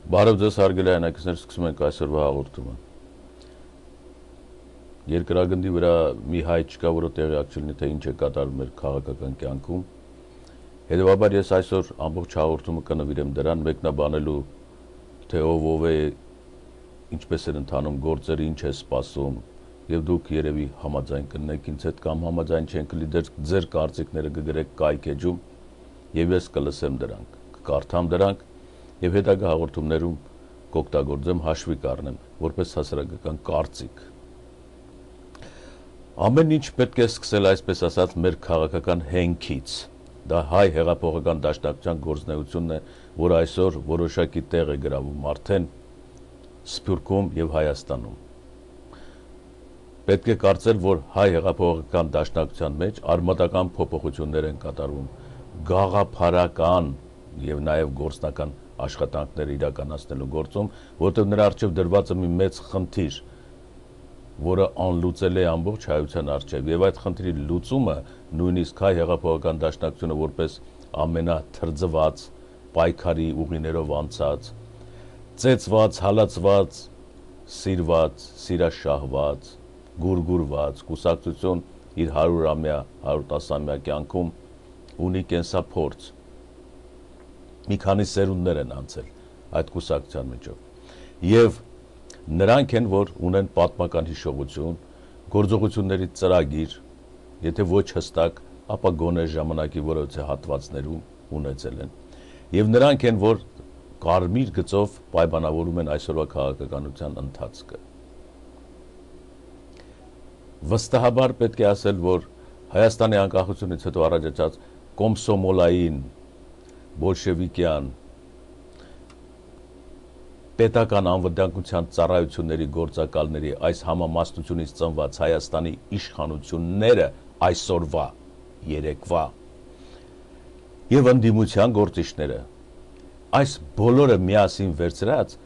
Բարև ձեզ հարգելի հայրենակիցներ, սկսում ենք այսօրվա հաղորդումը։ Երկրագնդի վրա մի հայ չկա, որը տեղյակ չլինի, թե ինչ է կատարվում մեր քաղաքական կյանքում։ Հետևաբար ես այսօր ամբողջ հաղորդումը կնվիրեմ դրան, մեկնաբանելու, թե ով է, ինչպես են ընթանում գործերը, ինչ է սպասում, եւ դուք երևի համաձայն կլինեք ինձ հետ կամ համաձայն չենք լինի, ձեր կարծիքները կգրեք կայք էջում, եւ ես կլսեմ դրանք, կկարդամ դրանք եւ հետագա հաղորդումներում կօգտագործեմ, հաշվի կառնեմ, որպես հասարակական կարծիք։ Ամեն ինչ պետք է սկսել, այսպես ասած, մեր քաղաքական հենքից։ Դա հայ հեղափոխական դաշնակցության գործունեությունն է, որ այսօր որոշակի տեղ է գրավում արդեն Սփյուռքում եւ Հայաստանում։ Պետք է կարծել, որ հայ հեղափոխական դաշնակցության մեջ արմատական փոփոխություններ են կատարվում, գաղափարական եւ նաեւ գործնական աշխատանքներ իրականացնելու գործում, որտեղ նրա առջև դրված է մի մեծ խնդիր, որը անլուծել է ամբողջ հայության առջև, եւ այդ խնդրի լուծումը նույնիսկ հայ հեղափոխական դաշնակցությունը որպես ամենաթրջված, պայքարի ուղիներով անցած, ծեծված, հալածված, սիրված, սիրաշահված, գուրգուրված կուսակցություն իր 100-ամյա, 110-ամյա կյանքում ունի կենսափորձ։ Մի քանի սերունդներ են անցել այդ կուսակցության միջով եւ նրանք են, որ ունեն պատմական հիշողություն, գործողությունների ծրագիր, եթե ոչ հստակ, ապա գոնե ժամանակի որոշ հատվածներում ունեցել են եւ նրանք են, որ կարմիր գծով պայմանավորում են այսօրվա քաղաքականության ընթացքը։ Վստահաբար պետք է ասել, որ Հայաստանի անկախությունից հետո առաջացած կոմսոմոլային բոլշևիկյան պետական անվտանգության ծառայությունների գործակալների այս համամասնությունից ծնված Հայաստանի իշխանությունները այսօրվա, երեկվա եւ ընդդիմության գործիչները այս բոլորը միասին վերցրած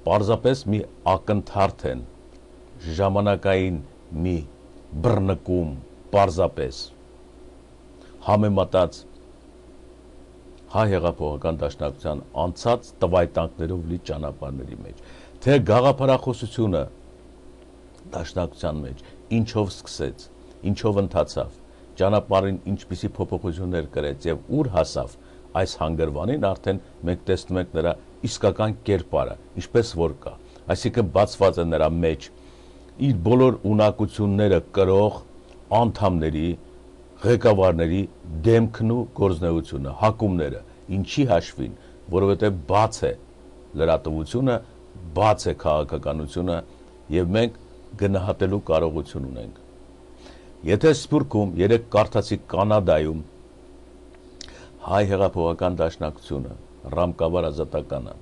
պարզապես մի ակնթարթ են, ժամանակային մի բռնկում, պարզապես համեմատած հայ հեղափոխական դաշնակցության անցած տվայտանքներով լի ճանապարհների մեջ, թե գաղափարախոսությունը դաշնակցության մեջ ինչով սկսեց, ինչով ընթացավ, ճանապարհին ինչպիսի փոփոխություններ կրեց եւ ուր հասավ, այս հանգրվանին արդեն մենք տեսնում ենք նրա իսկական կերպարը, ինչպես որ կա, այսինքն բացված է նրա մեջ իր բոլոր ունակությունները կրող անդամների, ղեկավարների դեմքն ու գործնեությունը, հակումները, ինչի հաշվին, որովհետև բաց է լրատվությունը, բաց է քաղաքականությունը եւ մենք գնահատելու կարողություն ունենք։ Եթե Սփյուռքում երեք կարդացի Կանադայում հայ հեղափոխական դաշնակցությունը, Ռամկավար ազատականը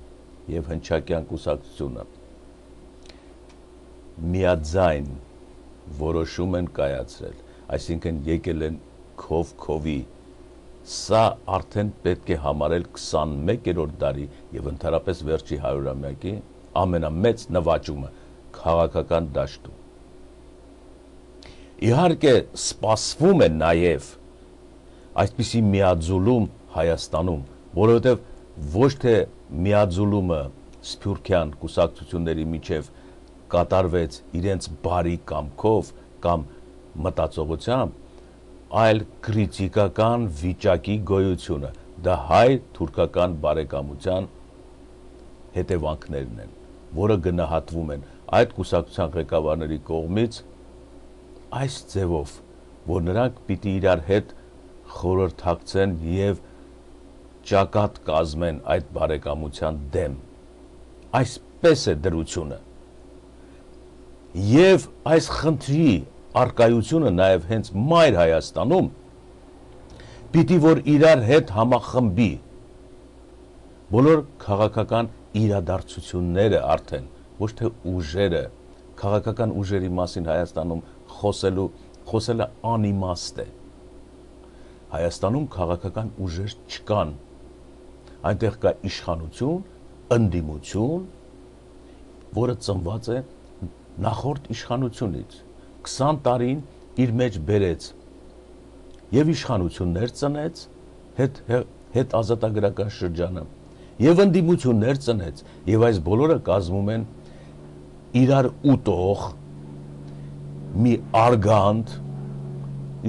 եւ Հնչակյան կուսակցությունը միաձայն որոշում են կայացրել, այսինքն եկել են քովի, սա արդեն պետք է համարել 21-րդ դարի եւ ընդհանրապես վերջի 100-ամյակի ամենամեծ նվաճումը քաղաքական դաշտում։ Իհարկե սպասվում է նաեւ այսպիսի միաձուլում Հայաստանում, որովհետեւ ոչ թե միաձուլումը սփյուռքյան կուսակցությունների միջև կատարվեց իրենց բարի կամքով կամ մտածողությամբ, այլ քրիտիկական վիճակի գոյությունը, դա հայ-թուրքական բարեկամության հետևանքներն են, որը գնահատվում են այդ կուսակցության ղեկավարների կողմից այս ձևով, որ նրանք պիտի իրար հետ խորհրդակցեն եւ ճակատ կազմեն այդ բարեկամության դեմ։ Այսպես է դրությունը։ Եվ այս խնդրի արկայությունը նաև հենց մայր Հայաստանում պիտի որ իրար հետ համախմբի բոլոր քաղաքական իրադարձությունները արդեն, ոչ թե ուժերը, քաղաքական ուժերի մասին Հայաստանում խոսելը անիմաստ է։ Հայաստանում քաղաքական ուժեր չկան, այնտեղ կա իշխանություն, ընդդիմություն, որը ծնված է նախորդ իշխանությունից 20 տարին իր մեջ բերեց եւ իշխանություններ ծնեց հետ ազատագրական շրջանը եւ ընդդիմություններ ծնեց, եւ այս բոլորը կազմում են իրար ուտող մի արգանդ,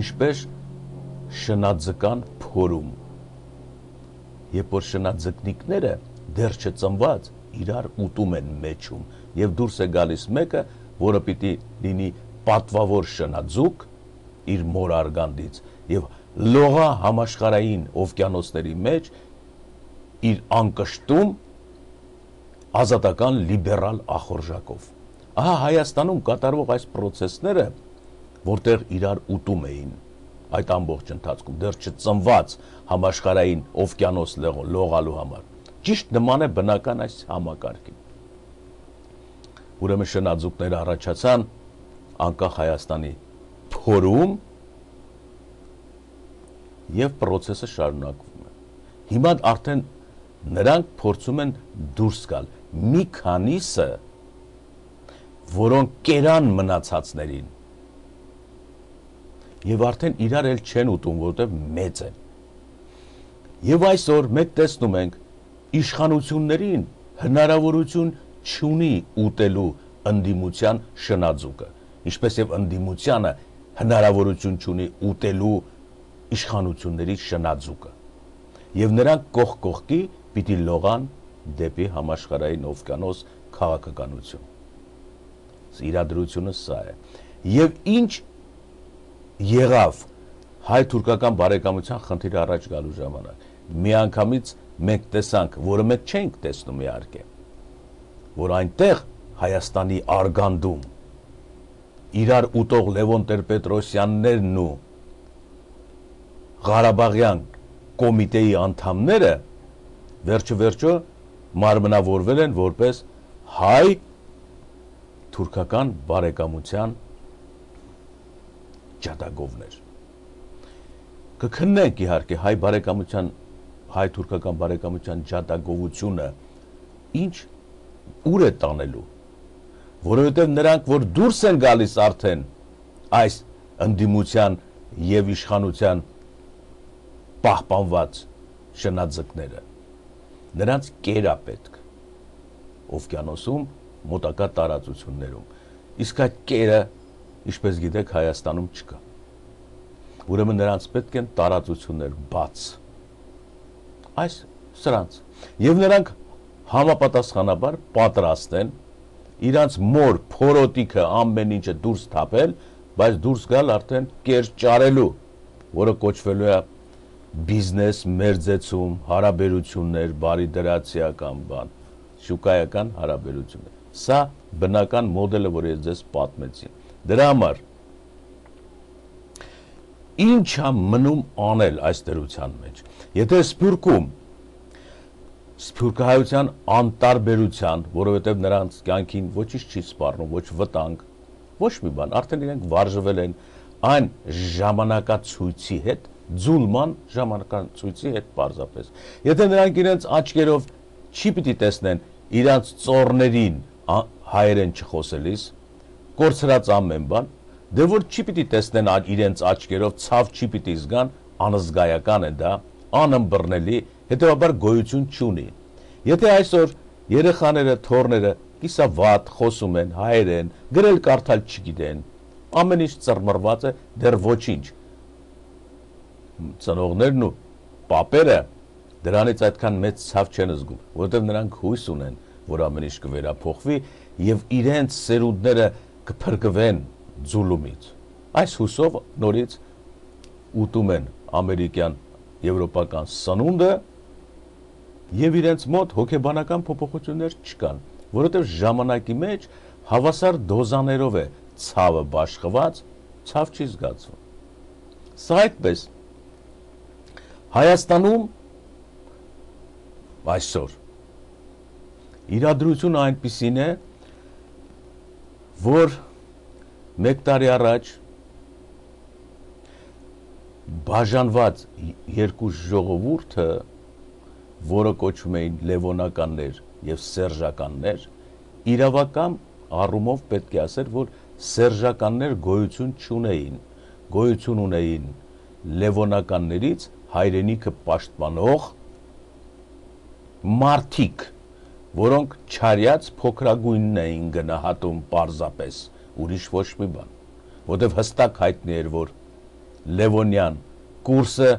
ինչպես շնաձկան փորում, երբ որ շնաձկնիկները դեռ չծնված իրար ուտում են մեջում, եւ դուրս է գալիս մեկը, որը պիտի լինի պատվավոր շնաձուկ իր մոր արգանդից եւ լողա համաշխարհային օվկիանոսների մեջ իր անկշտում ազատական լիբերալ ախորժակով։ Ահա Հայաստանում կատարվող այս process-ները, որտեղ իրար ուտում էին այդ ամբողջ ընթացքում, դեռ չծնված համաշխարհային օվկիանոս լողալու համար, ճիշտ նման է բնական այս համակարգին։ Ուրեմն շնաձուկները առաջացան անկախ Հայաստանի փորում եւ process-ը շարունակվում է։ Հիմա արդեն նրանք փորձում են դուրս գալ, մի քանիսը, որոնք կերան մնացածներին եւ արդեն իրար էլ չեն ուտում, որովհետեւ մեծ են։ Եվ այսօր մենք տեսնում ենք իշխանություններին հնարավորություն չունի ուտելու ընդդիմության շնաձուկը, ինչպես եւ ընդդիմությանը հնարավորություն չունի ուտելու իշխանությունների շնաձուկը։ Եվ նրանք կողք կողքի պիտի լողան դեպի համաշխարհային օվկիանոս քաղաքականություն։ Իրադրությունը սա է։ Եվ ինչ եղավ հայ-թուրքական բարեկամության խնդիրը առաջ գալու ժամանակ։ Միանգամից մենք տեսանք, որը մենք չենք տեսնում իհարկե, որ այնտեղ Հայաստանի արգանդում իրար ուտող Լևոն Տեր-Պետրոսյաններն ու Ղարաբաղյան կոմիտեի անդամները վերջը մարմնավորվել են որպես հայ-թուրքական բարեկամության ջատագովներ։ Կքննենք իհարկե հայ-թուրքական բարեկամության ջատագովությունը ուր է տանելու, որովհետև նրանք, որ դուրս են գալիս արդեն այս ընդդիմության եւ իշխանության պահպանված շնաձկները, նրանց կերա պետք օվկիանոսում մոտակա տարածություններում, իսկ այդ կերը, ինչպես գիտեք, Հայաստանում չկա։ Ուրեմն նրանց պետք են տարածություններ բաց սրանց, եւ նրանք համապատասխանաբար պատրաստ են իրանց մոր փորոտիքը ամեն ինչը դուրս թափել, բայց դուրս գալ արդեն կեր ճարելու, որը կոչվելու է բիզնես մերձեցում, հարաբերություններ, բարիդրացիական բան, շուկայական հարաբերություններ։ Սա բնական մոդելը, որ ես ձեզ պատմեցի։ Դրա համար ինչ է մնում անել այս դրության մեջ։ Եթե Սփյուռքում սփյուռքահայության անտարբերության, որովհետև նրանց կյանքին ոչինչ չի սպառնում, ոչ վտանգ, ոչ մի բան, արդեն իրենք վարժվել են այն ժամանակացույցի հետ, ձուլման ժամանակացույցի հետ պարզապես։ Եթե նրանք իրենց աչքերով չի պիտի տեսնեն իրանց ծոռներին հայերեն չխոսելիս, կորցրած ամեն բան, դե որ չի պիտի տեսնեն իրենց աչքերով, ցավ չի պիտի զգան, անզգայական է դա, անըմբռնելի, հետևաբար գոյություն չունի։ Եթե այսօր երեխաները, թոռները կիսավատ խոսում են հայերեն, գրել կարդալ չգիտեն, ամեն ինչ ծռմռված է, դեռ ոչինչ։ Ծնողներն ու պապերը դրանից այդքան մեծ ցավ չեն զգում, որովհետև նրանք հույս ունեն, որ ամեն ինչ կվերափոխվի եւ իրենց սերունդները կփրկվեն ձուլումից։ Այս հուսով նորից ուտում են ամերիկյան, եվրոպական սնունդը եւ իրենց մոտ հոգեբանական փոփոխություններ չկան, որովհետեւ ժամանակի մեջ հավասար դոզաներով է ցավը բաշխված, ցավ չի զգացվում։ Սա այդպես Հայաստանում այսօր իրադրությունը այնպիսին է, որ մեկ տարի առաջ բաժանված երկու ժողովուրդը, որը կոչվում էին լևոնականներ եւ սերժականներ, իրավական առումով պետք է ասել, որ սերժականներ գոյություն չունեին, գոյություն ունեին լևոնականներից հայրենիքը պաշտպանող մարդիկ, որոնք չարյաց փոքրագույնն էին գնահատում պարզապես, ուրիշ ոչ մի բան, որտեվ հստակ հայտնի էր, որ Լևոնյան կուրսը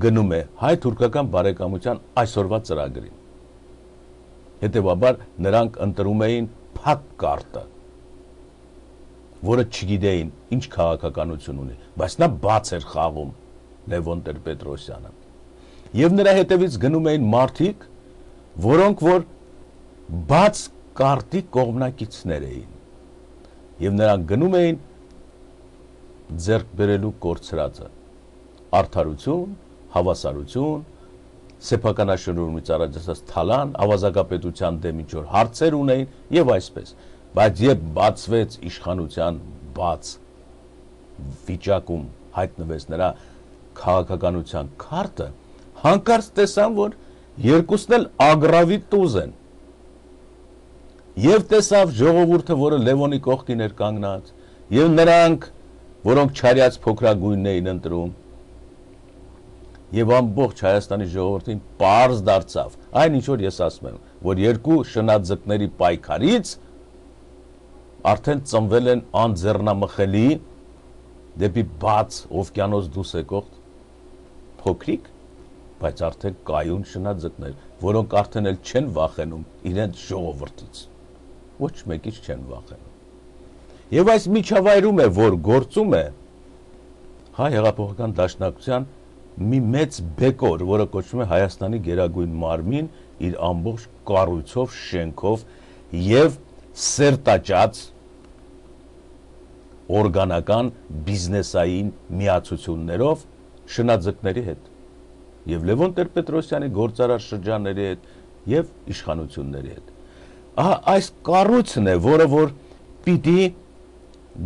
գնում է հայ-թուրքական բարեկամության այսօրվա ծրագրին։ Հետևաբար նրանք ընտրում էին փակ կարտը, որը չգիտեին ինչ քաղաքականություն ունի, բայց նա բաց էր խաղում Լևոն Տեր-Պետրոսյանը։ Եվ նրա հետևից գնում էին մարդիկ, որոնք որ բաց կարտի կողմնակիցներ էին։ Եվ նրանք գնում էին ձեռք բերելու կորցրածը, արդարություն, հավասարություն, սեփականաշնորհումից առաջ ասած թալան, ավազակապետության դեմ ինչ որ հարցեր ունեին եւ այսպես։ Բայց երբ բացվեց իշխանության բաց վիճակում հայտնվեց նրա քաղաքականության քարտը, հանկարծ տեսան, որ երկուսն էլ ագրավի տուզ են։ Եվ տեսավ ժողովուրդը, որը Լևոնի կողքին էր կանգնած, եւ նրանք, որոնք չարյաց փոքրագույնն էին ընտրում, եւ ամբողջ Հայաստանի ժողովրդին պարզ դարձավ, այն ինչ որ ես ասում եմ, որ երկու շնաձկների պայքարից արդեն ծնվել են անձեռնամխելի դեպի բաց օվկիանոս դուրս եկող փոքրիկ, բայց արդեն կայուն շնաձկներ, որոնք արդեն էլ չեն վախենում իրենց ժողովրդից, ոչ մեկից չեն վախենում։ Եվ այս միջավայրում է, որ գործում է Հայ հեղափոխական դաշնակցության մի մեծ բեկոր, որը կոչվում է Հայաստանի գերագույն մարմին, իր ամբողջ կառույցով, շենքով եւ սերտաճած օրգանական բիզնեսային միացություններով շնաձկների հետ եւ Լևոն Տեր-Պետրոսյանի գործարար շրջանների հետ եւ իշխանությունների հետ։ Ահա այս կառույցն է, որը որ պիտի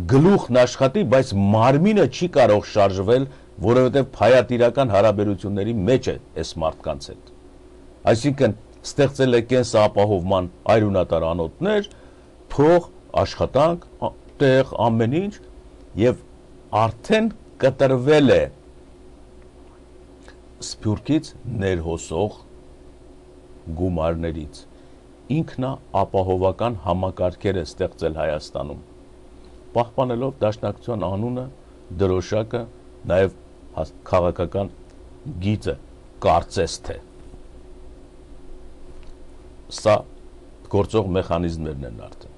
գլուխն աշխատի, բայց մարմինը չի կարող շարժվել, որովհետեւ փայատիրական հարաբերությունների մեջ է այս մարդկանց հետ։ Այսինքն ստեղծել է կենսապահովման այրունատար անոթներ, փող, աշխատանք, տեղ, ամեն ինչ եւ արդեն կտրվել է Սփյուռքից ներհոսող գումարներից։ Ինքնա ապահովական համակարգեր է ստեղծել Հայաստանում, պահպանելով դաշնակցության անունը, դրոշակը, նաեւ քաղաքական գիծը, կարծես թե։ Սա գործող մեխանիզմներն են արդեն։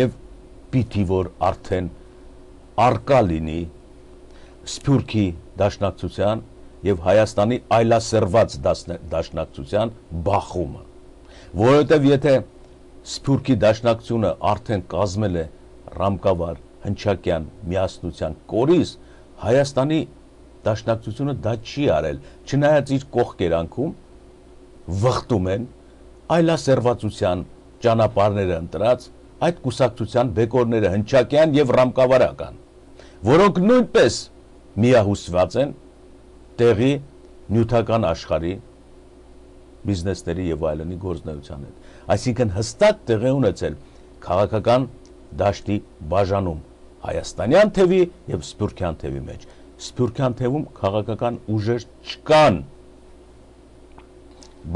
Եվ պիտի որ արդեն արկա լինի Սփյուռքի դաշնակցության եւ Հայաստանի այլասերված դաշնակցության բախումը, որովհետեւ եթե Սփյուռքի դաշնակցությունը արդեն կազմել է Ռամկավար, Հնչակյան միասնության կորիզ, Հայաստանի դաշնակցությունը դա չի արել, չնայած իր կողքերանքում վխտում են այլասերվածության ճանապարհները ընտրած այդ կուսակցության բեկորները Հնչակյան եւ Ռամկավարական, որոնք նույնպես միահուսված են տեղի նյութական աշխարհի բիզնեսների եւ այլնի գործնեության հետ։ Այսինքն հստակ տեղ է ունեցել քաղաքական դաշտի բաժանում հայաստանյան թևի եւ սփյուռքյան թևի մեջ։ Սփյուռքյան թևում քաղաքական ուժեր չկան,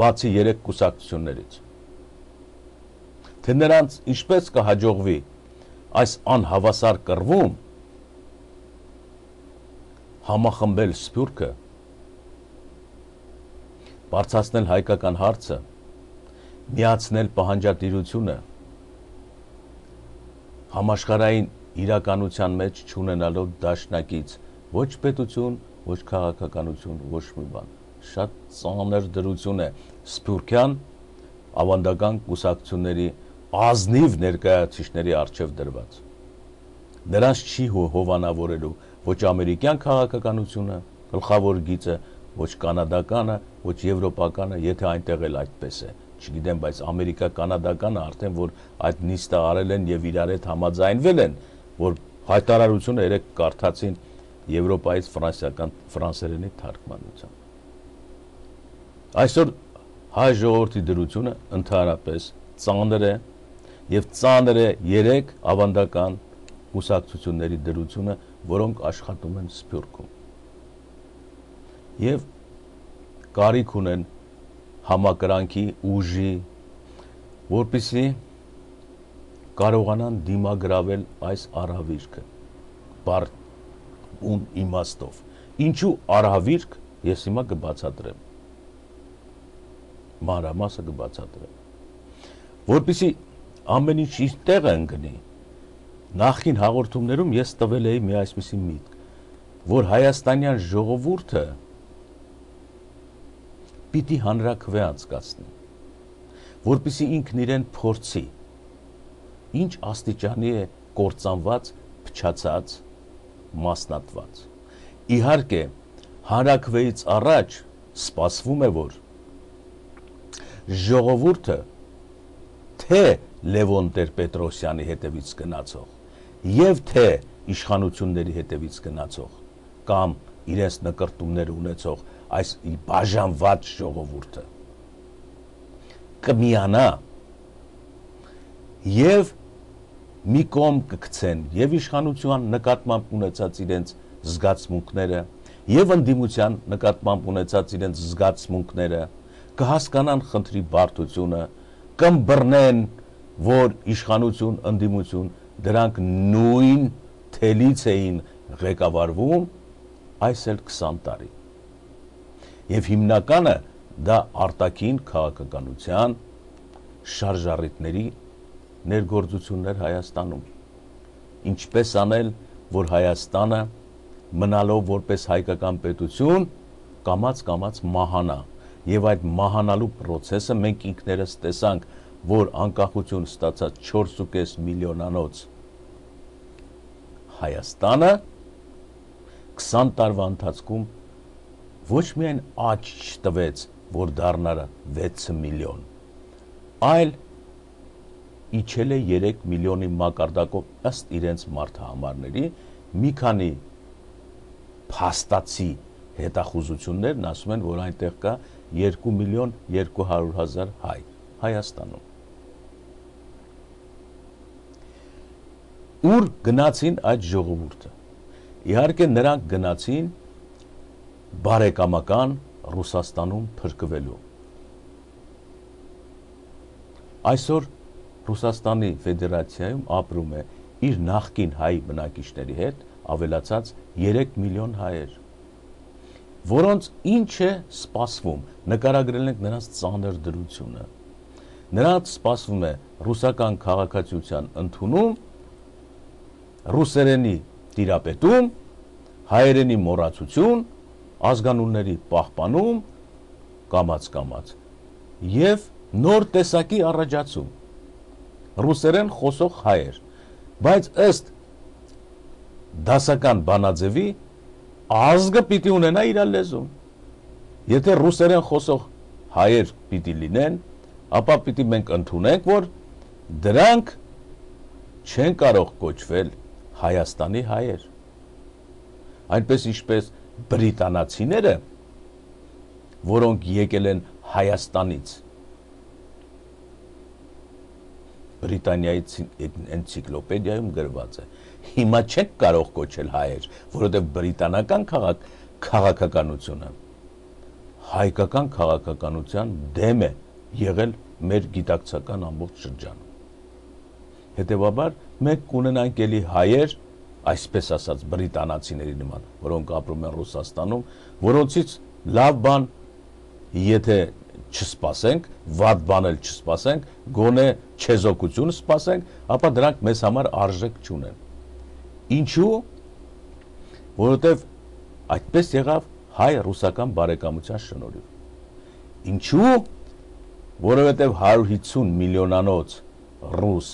բացի 3 կուսակցություններից։ Թե նրանց ինչպես կհաջողվի այս անհավասար կռվում համախմբել Սփյուռքը, բարձրացնել հայկական հարցը, միացնել պահանջատիրությունը, համաշխարհային իրականության մեջ չունենալով դաշնակից ոչ պետություն, ոչ քաղաքականություն, ոչ մի բան։ Շատ ծանր դրություն է Սփյուռքյան ավանդական կուսակցությունների ազնիվ ներկայացուցիչների առջև դրված։ Նրանց չի հովանավորելու ոչ ամերիկյան քաղաքականությունը, գլխավոր գիծը, ոչ կանադականը, ոչ եվրոպականը, եթե այնտեղ էլ այդպես է։ Չգիտեմ, բայց ամերիկա-կանադականը արդեն որ այդ նիստը արել են եւ իրար հետ համաձայնվել են, որ հայտարարությունը երեք կարդացին Եվրոպայից ֆրանսերենի թարգմանությամբ։ Այսօր հայ ժողովրդի դրությունը ընդհանրապես ծանր է եւ ծանր է 3 ավանդական կուսակցությունների դրությունը, որոնք աշխատում են Սփյուռքում։ Եվ կարիք ունեն համակրանքի, ուժի, որպեսզի կարողանան դիմագրավել այս արհավիրքը բառ իմաստով։ Ինչու արհավիրք, ես հիմա կբացատրեմ։ Մանրամասը կբացատրեմ։ Որպեսզի ամեն ինչ իր տեղը ընկնի, նախկին հաղորդումներում ես տվել էի մի այսպիսի միտք, որ հայաստանյան ժողովուրդը պիտի հանրաքվե անցկացնի, որպեսզի ինքն իրեն փորձի, ինչ աստիճանի է կործանված, փչացած, մասնատված։ Իհարկե, հանրաքվեից առաջ սպասվում է, որ ժողովուրդը թե Լևոն Տեր-Պետրոսյանի հետևից գնացող եւ թե իշխանությունների հետևից գնացող կամ իրենց նկրտումներ ունեցող այս բաժանված ժողովուրդը կմիանա եւ մի կողմ կգցեն եւ իշխանության նկատմամբ ունեցած իրենց զգացմունքները եւ ընդդիմության նկատմամբ ունեցած իրենց զգացմունքները, կհասկանան խնդրի բարդությունը, կըմբռնեն, որ իշխանություն, ընդդիմություն դրանք նույն թելից էին ղեկավարվում այս էլ 20 տարի։ Եվ հիմնականը դա արտաքին քաղաքականության շարժառիթների ներգործություններ Հայաստանում։ Ինչպես անել, որ Հայաստանը մնալով որպես հայկական պետություն կամաց-կամաց մահանա, եւ այդ մահանալու process-ը մենք ինքներս տեսանք, որ անկախություն ստացած 4.5 միլիոնանոց Հայաստանը 20 տարվա ընթացքում ոչ միայն աճ չտվեց, որ դառնար 6 միլիոն, այլ իջել է 3 միլիոնի մակարդակով ըստ իրենց մարդահամարների, մի քանի փաստացի հետախուզություններն ասում են, որ այնտեղ կա 2 միլիոն 200 հազար հայ Հայաստանում։ Ուր գնացին այդ ժողովուրդը։ Իհարկե նրանք գնացին բարեկամական Ռուսաստանում փրկվելու։ Այսօր Ռուսաստանի Ֆեդերացիայում ապրում է իր նախկին հայ բնակիչների հետ ավելացած 3 միլիոն հայեր, որոնց ինչ է սպասվում, նկարագրել ենք նրանց ծանր դրությունը։ Նրանց սպասվում է ռուսական քաղաքացիության ընդունում, ռուսերենի տիրապետում, հայերենի մոռացություն, ազգանունների պահպանում, կամաց-կամաց, եւ նոր տեսակի առաջացում, ռուսերեն խոսող հայեր, բայց ըստ դասական բանաձևի ազգը պիտի ունենա իր լեզուն։ Եթե ռուսերեն խոսող հայեր պիտի լինեն, ապա պիտի մենք ընդունենք, որ դրանք չեն կարող կոչվել Հայաստանի հայեր։ Այնպես ինչպես բրիտանացիները, որոնք եկել են Հայաստանից, Բրիտանիայի էնցիկլոպեդիայում գրված է, հիմա չեք կարող կոչել հայեր, որովհետև բրիտանական քաղաքականությունը հայկական քաղաքականության դեմ է եղել մեր գիտակցական ամբողջ շրջանում։ Հետևաբար մենք կունենանք էլի հայեր, այսպես ասած բրիտանացիների նման, որոնք ապրում են Ռուսաստանում, որոնցից լավ բան, եթե չսպասենք, վատ բան էլ չսպասենք, գոնե չեզոքություն սպասենք, ապա դրանք մեզ համար արժեք չունեն։ Ինչու՞, որովհետև այդպես եղավ հայ-ռուսական բարեկամության շնորհիվ։ Ինչու՞, որովհետև 150 միլիոնանոց ռուս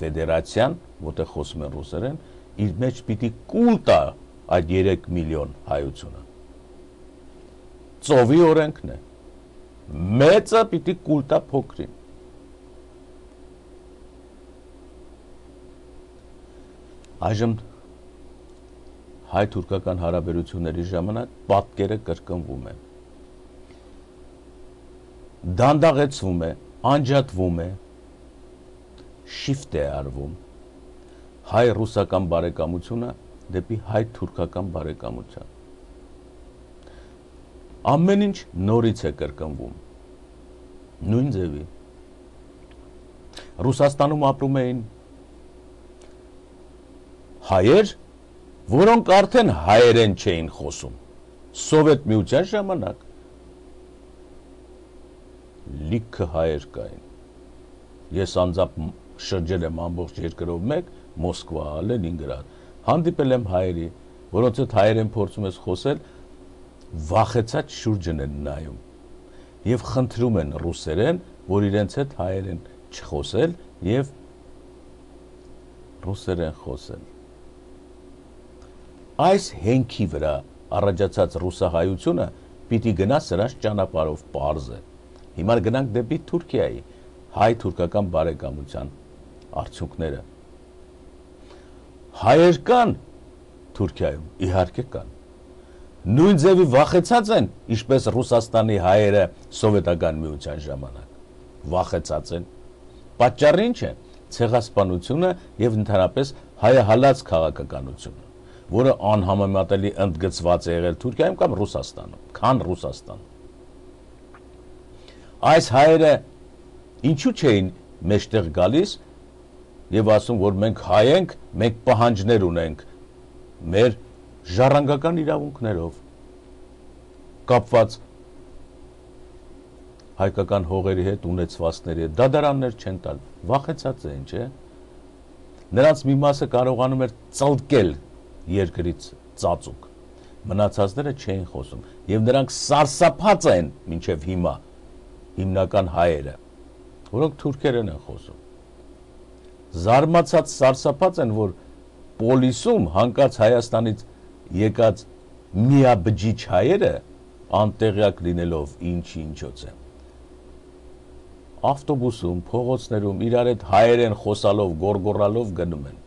ֆեդերացիան, որտեղ խոսում են ռուսերեն, իր մեջ պիտի կուլ տա այդ 3 միլիոն հայությունը։ Ծովի օրենքն է։ Մեծը պիտի կուլ տա փոքրին։ Այժմ հայ-թուրքական հարաբերությունների ժամանակ պատկերը կրկնվում է։ Դանդաղեցվում է, անջատվում է, շիֆտ է արվում հայ-ռուսական բարեկամությունը դեպի հայ-թուրքական բարեկամության։ Ամեն ինչ նորից է կրկնվում։ նույն ձևի Ռուսաստանում ապրում էին հայեր, որոնք արդեն հայերեն չէին խոսում Սովետ միության ժամանակ լիքը հայեր կային ես անձամբ շրջել եմ ամբողջ երկրով մեկ Մոսկվա, Լենինգրադ հանդիպել եմ հայերի որոնց հետ հայերեն փորձում ես խոսել վախեցած շուրջն են նայում եւ խնդրում են ռուսերեն որ իրենց հետ հայերեն չխոսել եւ ռուսերեն խոսել այս հենքի վրա առաջացած ռուսահայությունը պիտի գնա սրանց ճանապարհով པարզ է հիմա գնանք դեպի Թուրքիայի հայ-թուրքական բարեկամության արդյունքները հայեր կան Թուրքիայում իհարկե կան նույն ձևի վախեցած են ինչպես Ռուսաստանի հայերը սովետական միության ժամանակ վախեցած են պատճառը ինչ է ցեղասպանությունը եւ ընդհանրապես հայահալած քաղաքականությունը որը անհամեմատելի ընդգծված է եղել Թուրքիայում կամ Ռուսաստանում քան Ռուսաստանում այս հայերը ինչու չէին մեջտեղ գալիս եւ ասում որ մենք հայ ենք մենք պահանջներ ունենք մեր ժառանգական իրավունքներով կապված հայկական հողերի հետ ունեցվածքների հետ դատարաններ չեն տալ վախեցած են չէ նրանց մի մասը կարողանում էր ծլկել երկրից ծածուկ մնացածները չէին խոսում եւ նրանք սարսափած են մինչեւ հիմա հիմնական հայերը որոնք թուրքերեն են խոսում զարմացած սարսափած են որ պոլիսում հանկարծ Հայաստանից եկած միաբջիջ հայերը անտեղյակ լինելով ինչոց են ավտոբուսում փողոցներում իրար հետ հայերեն խոսալով գորգորալով գնում են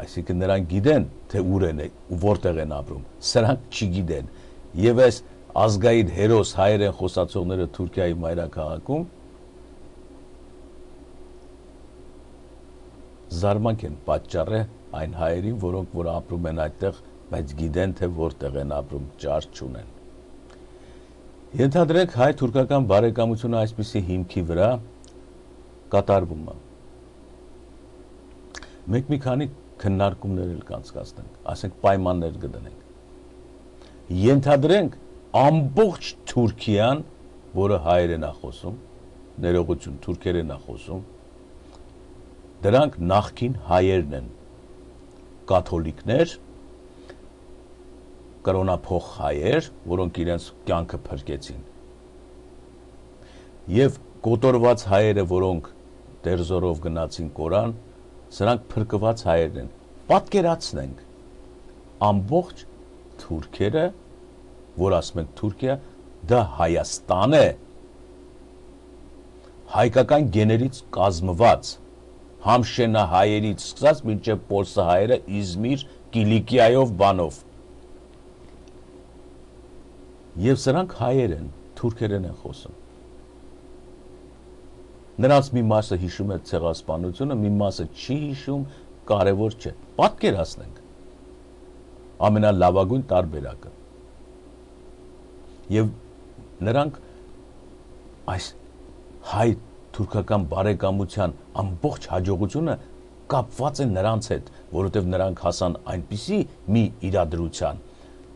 այսինքն նրանք գիտեն թե ուր են ու որտեղ են ապրում սրանք չգիտեն եւ այս ազգային հերոս հայերեն խոսացողները Թուրքիայի մայրաքաղաքում զարմանք են պատճառը այն հայերին, որոնք որ ապրում են այդտեղ, բայց գիտեն թե որտեղ են ապրում, ճար չունեն։ Ենթադրենք հայ-թուրքական բարեկամությունը այսպիսի հիմքի վրա կատարվում է։ Մենք մի քանի քննարկումներ էլ կանցկացնենք, ասենք պայմաններ կդնենք։ Ենթադրենք ամբողջ Թուրքիան, որը հայերեն է խոսում, ներողություն, թուրքերեն է խոսում, դրանք նախքին հայերն են, կաթոլիկներ, կրոնափող հայեր, որոնք իրենց կյանքը փրկեցին։ Եվ կոտորված հայերը, որոնք դերձորով գնացին կորան, սրանք փրկված հայերն են։ Պատկերացնենք ամբողջ թուրքերը, որ ասում ենք Թուրքիա, դա Հայաստան է, հայկական գեներից կազմված համշենահայերից սկսած մինչև պոլսահայերը Իզմիր, Կիլիկիայով բանով։ Եվ սրանք հայեր են, թուրքերեն են խոսում։ Նրանց մի մասը հիշում է ցեղասպանությունը, մի մասը չի հիշում, կարևոր չէ։ Պատկերացնենք ամենալավագույն տարբերակը։ Եվ նրանք այս հայ թուրքական բարեկամության ամբողջ հաջողությունը կապված է նրանց հետ, որովհետև նրանք հասան այնպիսի մի իրադրության,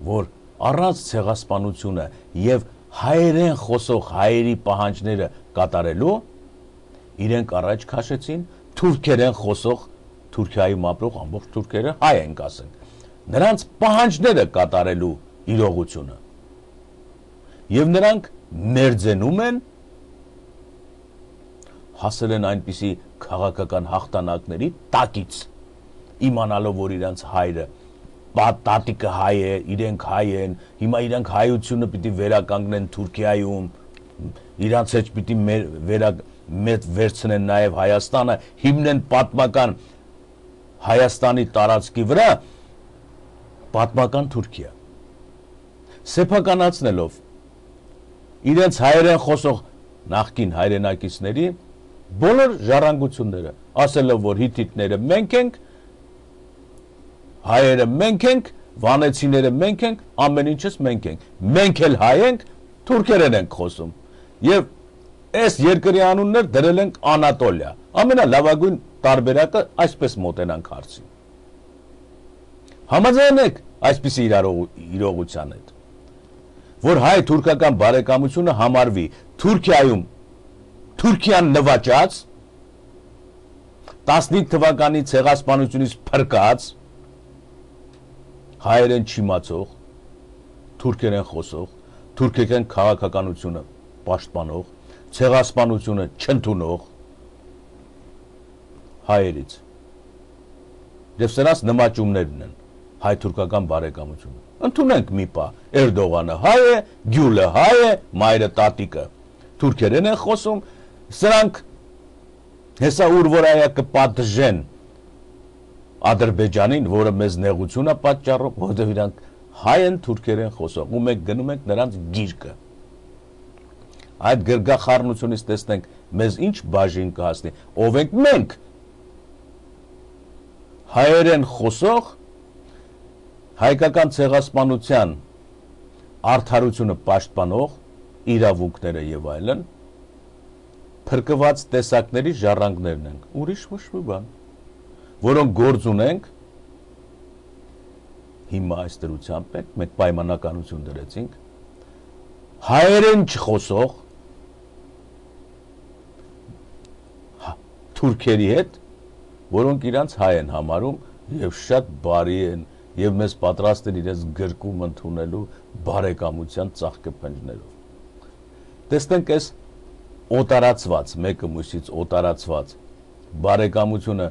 որ առանց ցեղասպանությունը եւ հայերեն խոսող հայերի պահանջները կատարելու իրենք առաջ քաշեցին թուրքերեն խոսող Թուրքիայում ապրող ամբողջ թուրքերը հայ են ասենք նրանց պահանջները կատարելու իրողությունը եւ նրանք մերձենում են հասել են այնպիսի քաղաքական հաղթանակների տակից իմանալով որ իրենց հայրը տատիկը հայ է իրենք հայ են հիմա իրենք հայությունը պիտի վերականգնեն Թուրքիայում իրանց հետ պիտի մեծ վերցնեն նաև Հայաստանը հիմնեն պատմական Հայաստանի տարածքի վրա պատմական Թուրքիա սեփականացնելով իրենց հայերեն խոսող նախկին հայրենակիցների բոլոր ժառանգությունները ասելով որ հիթիթները մենք ենք հայերը մենք ենք վանեցիները մենք ենք ամեն ինչս մենք ենք մենք էլ հայ ենք թուրքերեն ենք խոսում եւ այս երկրի անուններ դրել ենք Անատոլիա ամենալավագույն տարբերակը այսպես մոտենանք հարցին համաձայն եք այսպիսի իրողության հետ որ հայ-թուրքական բարեկամությունը համարվի Թուրքիայում Թուրքիան նվաճած 15 թվականի ցեղասպանությունից փրկած հայերեն չիմացող թուրքերեն խոսող թուրքական քաղաքականությունը պաշտպանող ցեղասպանությունը չընդունող հայերից եւ սրանց նմաճումներն են հայ-թուրքական բարեկամությունը ընդունենք մի պա Էրդողանը հայ է գյուլը հայ է մայրը տատիկը թուրքերեն են խոսում սրանք հեսա ուր որ այա կպատժեն Ադրբեջանին որը մեզ նեղություն է պատճառում որովհետեւ իրանք հայ են թուրքերեն խոսող ու մենք գնում ենք նրանց գիրկը այդ գրգախառնությունից տեսնենք մեզ ինչ բաժին կհասնի ով ենք մենք հայերեն խոսող հայկական ցեղասպանության արդարությունը պաշտպանող իրավունքները եւ այլն փրկված տեսակների ժառանգներն են ուրիշ ոչ մի բան որոնք գործ ունենք հիմա այս դրությամբ մենք պայմանականություն դրեցինք հայերեն չխոսող թուրքերի հետ որոնք իրանց հայ են համարում եւ շատ բարի են եւ մեզ պատրաստ են իրենց գրկում ընդունելու բարեկամության ծաղկեփնջներով տեսնենք այս օտարացված մեկը մյուսից օտարացված բարեկամությունը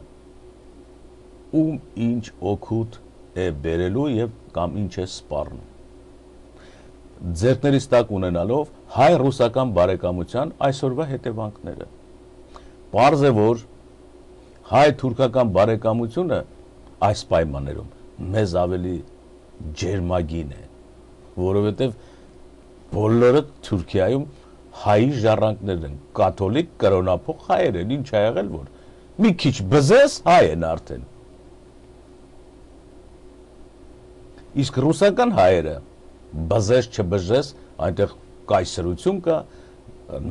ում ինչ օգուտ է բերելու եւ կամ ինչ է սպառնում ձեռքներից տակ ունենալով հայ-ռուսական բարեկամության այսօրվա հետևանքները պարզ է որ հայ-թուրքական բարեկամությունը այս պայմաններում մեզ ավելի ջերմագին է որովհետեւ բոլորը Թուրքիայում հայ ժառանգներ են կաթոլիկ կրոնափող հայեր են ինչ ա եղել որ մի քիչ բզես հայ են արդեն իսկ ռուսական հայերը բզես չբզես այնտեղ կայսրություն կա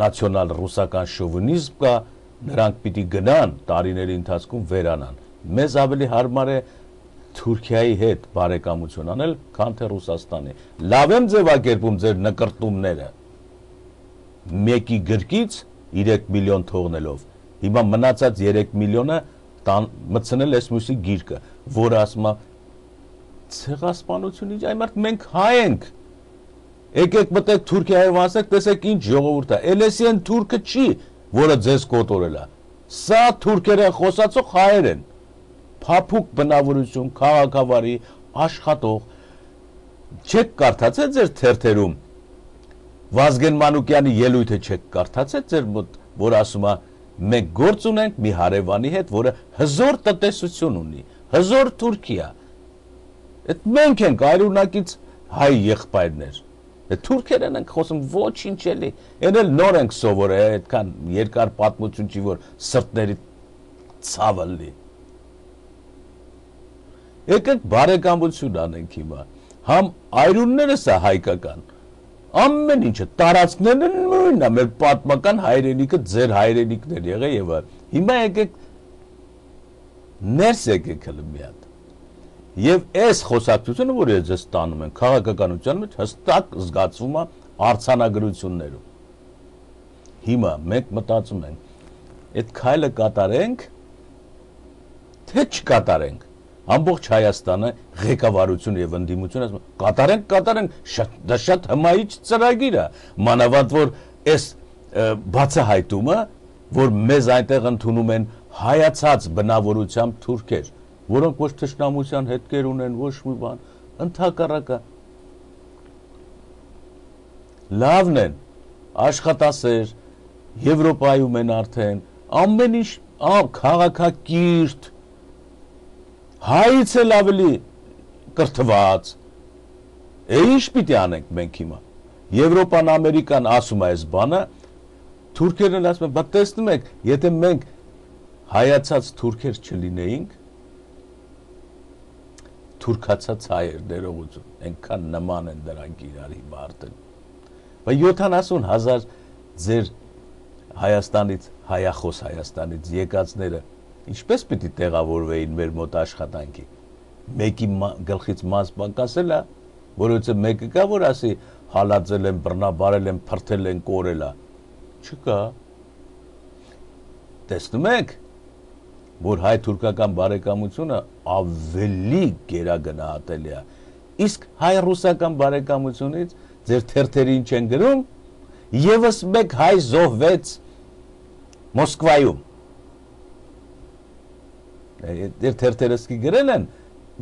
նացիոնալ ռուսական շովինիզմ կա նրանք պիտի գնան տարիների ընթացքում վերանան մեզ ավելի հարմար է Թուրքիայի հետ բարեկամություն անել քան թե Ռուսաստանի լավ եմ ձևակերպում ձեր նկրտումները մեկի գրկից 3 միլիոն թողնելով հիմա մնացած 3 միլիոնը մտցնել էս մյուսի գիրկը որը ասում է ցեղասպանությունից այմարտ մենք հայ ենք եկեք մտեք Թուրքիայով ասեք տեսեք ինչ ժողովուրդ է Էլեսիան թուրքը չի որը ձեզ կոտորել է սա թուրքերեն խոսացող հայեր են փափուկ բնավորություն քաղաքավարի աշխատող չեք կարդացել ձեր թերթերում Վազգեն Մանուկյանի ելույթը չեք կարդացել ձեր մոտ որ ասում է մենք գործ ունենք մի հարևանի հետ որը հզոր տնտեսություն ունի հզոր Թուրքիա այդ մենք ենք այրունակից հայ եղբայրներ այդ թուրքերեն ենք խոսում ոչինչ էլի այն էլ նոր ենք սովորել այդքան երկար պատմություն չի որ սրտների ցավը լի եկեք բարեկամություն անենք հիմա համ այրունները սա հայկական ամեն ինչը տարածքներն են նույնն է մեր պատմական հայրենիքը ձեր հայրենիքներ եղե եւ հիմա եկեք ներս եկեք հələ մի հատ եւ այս խոսակցությունը որ ես տանում եմ քաղաքականության մեջ հստակ զգացվում է արցանագրություններում հիմա մենք մտածում ենք այդ քայլը կատարենք թե չկատարենք ամբողջ Հայաստանը ղեկավարություն եւ ընդդիմություն ասում կատարենք դա շատ հմայիչ ծրագիր է մանավանդ որ այս բացահայտումը որ մեզ այնտեղ ընդունում են հայացած բնավորությամբ թուրքեր որոնք ոչ թշնամության հետքեր ունեն ոչ մի բան ընդհակառակը լավն են աշխատասեր Եվրոպայում են արդեն ամեն ինչ քաղաքակիրթ հայից էլ ավելի կրթված ինչ պիտի անենք մենք հիմա Եվրոպան Ամերիկան ասում է այս բանը թուրքերն ասում են բա տեսնում եք եթե մենք հայացած թուրքեր չլինեինք թուրքացած հայեր ներողություն այնքան նման են դրանք իրար հիմա արդեն Բայց 70,000 ձեր Հայաստանից, հայախոս Հայաստանից եկածները ինչպես պիտի տեղավորվեին մեր մոտ աշխատանքի։ Մեկի գլխից մաս պակասել է, որովհետև մեկը կա, որ ասի հալածել են, բռնաբարել են, փրթել են, կորել է։ Չկա։ Տեսնում եք, որ հայ-թուրքական բարեկամությունը ավելի գերագնահատելի է։ Իսկ հայ-ռուսական բարեկամությունից ձեր թերթերին չեն գրում, եւս մեկ հայ զոհվեց Մոսկվայում։ Դեր թերթերսկի գրել են,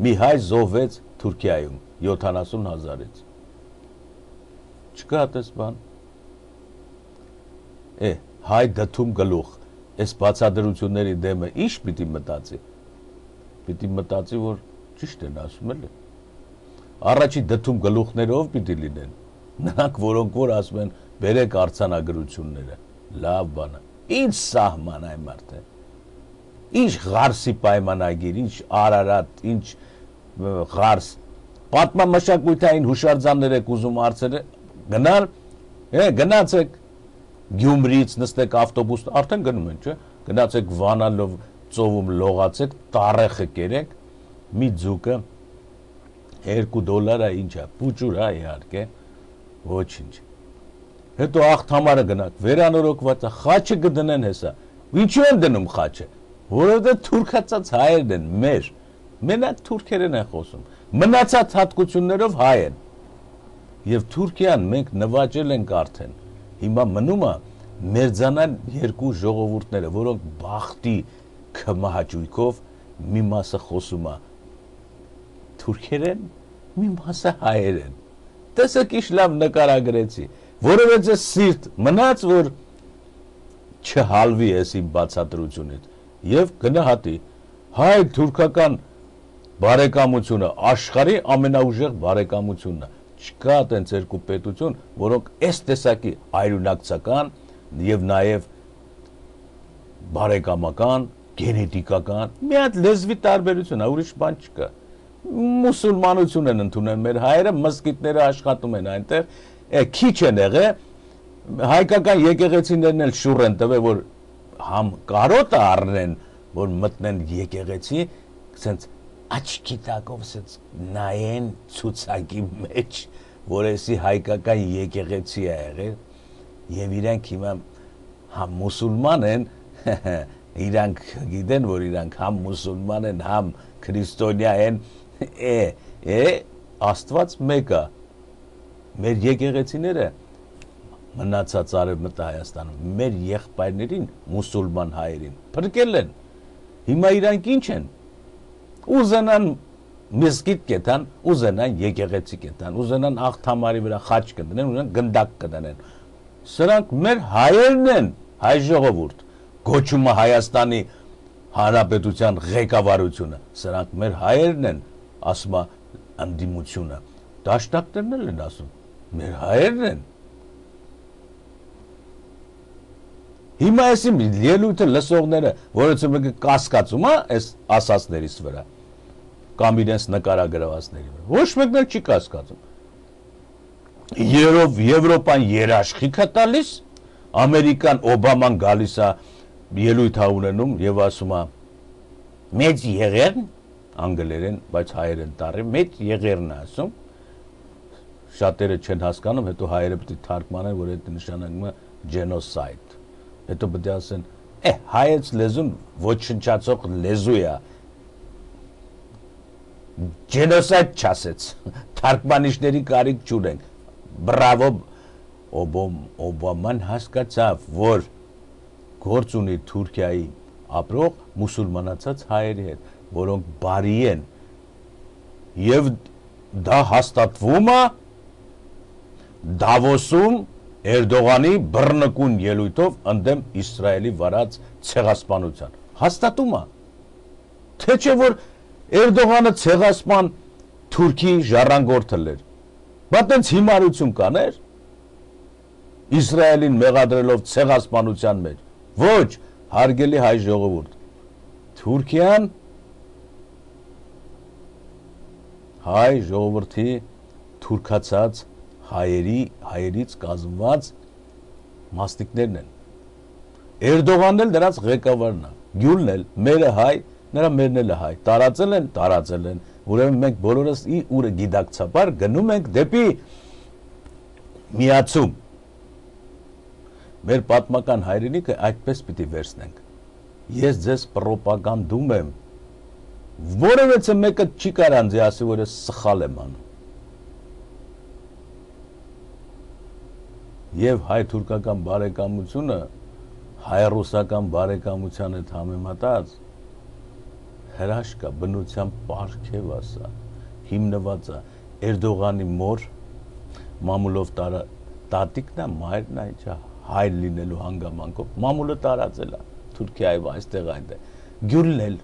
մի հայ զոհվեց Թուրքիայում 70,000-ից։ Չկա այդպես բան։ Հայ դդում գլուխ, այս բացադրությունների դեմը ինչ պիտի մտածի։ Պիտի մտածի, որ ճիշտ են ասում էլ։ Առաջի դդում գլուխներով պիտի լինեն։ Նրանք, որոնք որ ասում են, բերեք արձանագրությունները, լավ բան է։ Ինչ սահման այ մարդ է։ Ինչ Ղարսի պայմանագիր, ինչ Արարատ, ինչ Ղարս։ Պատմամշակութային հուշարձաններ եք ուզում արծերը, գնալ, գնացեք Գյումրիից նստեք ավտոբուս, արդեն գնում են, չէ՞։ Գնացեք Վանալով ծովում լողացեք, տառեխը կերեք, մի ձուկը $2 է, ինչ է, փուճուր է իհարկե, ոչինչ։ Հետո աղթամարը գնաք, վերանորոգված է, խաչը կդնեն հեսա։ Ինչու են դնում խաչը։ Որովհետև թուրքացած հայերն են մեր։ Մենակ թուրքերեն են խոսում։ Մնացած հատկություններով հայ են։ Եվ Թուրքիան մենք նվաճել ենք արդեն։ Հիմա մնում է մերձանալ երկու ժողովուրդները, որոնք բախտի քմահաճույքով մի մասը խոսում է թուրքերեն, մի մասը հայերեն։ Տեսեք ինչ լավ նկարագրեցի, որովհետև սիրտ մնաց, որ չհալվի ես իմ բացատրությունից եւ գնահատի հայ-թուրքական բարեկամությունը աշխարհի ամենաուժեղ բարեկամությունն է։ Չկա այդպես երկու պետություն, որոնք այս տեսակի այլունակցական եւ նաեւ բարեկամական, գենետիկական, մի հատ լեզվի տարբերություն է, ուրիշ բան չկա։ Մուսուլմանություն են ընդունել մեր հայերը, մզկիթները աշխատում են այնտեղ, քիչ են եղել, հայկական եկեղեցիներն էլ շուռ են տվել, որ համ կարոտը առնեն, որ մտնեն եկեղեցի, ասենց աչքի տակով ասենց նայեն ցուցակի մեջ, որ էսի հայկական եկեղեցի է եղել, եւ իրանք հիմա համ մուսուլման են, իրանք գիտեն, որ իրանք համ մուսուլման են, համ քրիստոնյա են, Աստված մեկ է, մեր եկեղեցիները մնացած արևմտա Հայաստանում, մեր եղբայրներին, մուսուլման հայերին, փրկել են, հիմա իրանք ինչ են, ուզենան մզկիթ կետան, ուզենան եկեղեցի կետան, ուզենան աղթամարի վրա խաչ կդնեն, ուզենան գնդակ կդնեն, սրանք մեր հայերն են, հայ ժողովուրդ, գոչումը Հայաստանի Հանրապետության ղեկավարությունը, սրանք մեր հայերն են, ասում է անդիմությունը, դաշնակներն էլ են ասում, մեր հայերն են։ Հիմա էսի ելույթը լսողները, որոնց մեկը կասկածում է այս ասածներից վրա, կամ իրենց նկարագրվածների վրա, ոչ մեկն էլ չի կասկածում։ Երով Եվրոպան երաշխիք է տալիս, Ամերիկան Օբաման գալիս է ելույթ ունենում եւ ասում է մեծ եղերն անգլերեն, բայց հայերեն տառի, մեծ եղերն է ասում, շատերը չեն հասկանում, հետո հայերը պետք է թարգմանեն, որ այդ նշանակում է genocide, հետո պետք է ասեն, հայոց լեզուն ոչնչացող լեզու է, genocide չասեց, թարգմանիչների կարիք չունենք, բրավո, Օբաման հասկացավ, որ գործ ունի Թուրքիայի ապրող մուսուլմանացած հայերի հետ, որոնք բարի են, եւ դա հաստատվում է Դավոսում Էրդողանի բռնկուն ելույթով ընդդեմ Իսրայելի վարած ցեղասպանության, հաստատում է, թե չէ որ Էրդողանը ցեղասպան Թուրքի ժառանգորդը էր, բա տենց հիմարություն կաներ, Իսրայելին մեղադրելով ցեղասպանության մեջ, ոչ, հարգելի հայ ժողովուրդ, Թուրքիան հայ ժողովրդի թուրքացած հայերից կազմված մասնիկներն են։ Էրդողանն էլ դրանց ղեկավարն է, Գյուլն էլ, մերը հայ, նրա մերն էլ հայ, տարածել են, ուրեմն մենք բոլորս ուրը գիտակցաբար գնում ենք դեպի միացում։ Մեր պատմական հայրենիքը այդպես պիտի վերցնենք։ Ես ձեզ պրոպագանդում եմ, որևէ մեկը չի կարող ինձ ասի, որ ես սխալ եմ անում։ Եվ հայ-թուրքական բարեկամությունը հայ-ռուսական բարեկամության հետ համեմատած հրաշք է, բնության պարգև է սա, հիմնված է Էրդողանի մոր մամուլով տատիկն է, մայրն է, ինչա հայր լինելու հանգամանքով, մամուլը տարածել է Թուրքիայով այստեղ այնտեղ, Գյուլն էլ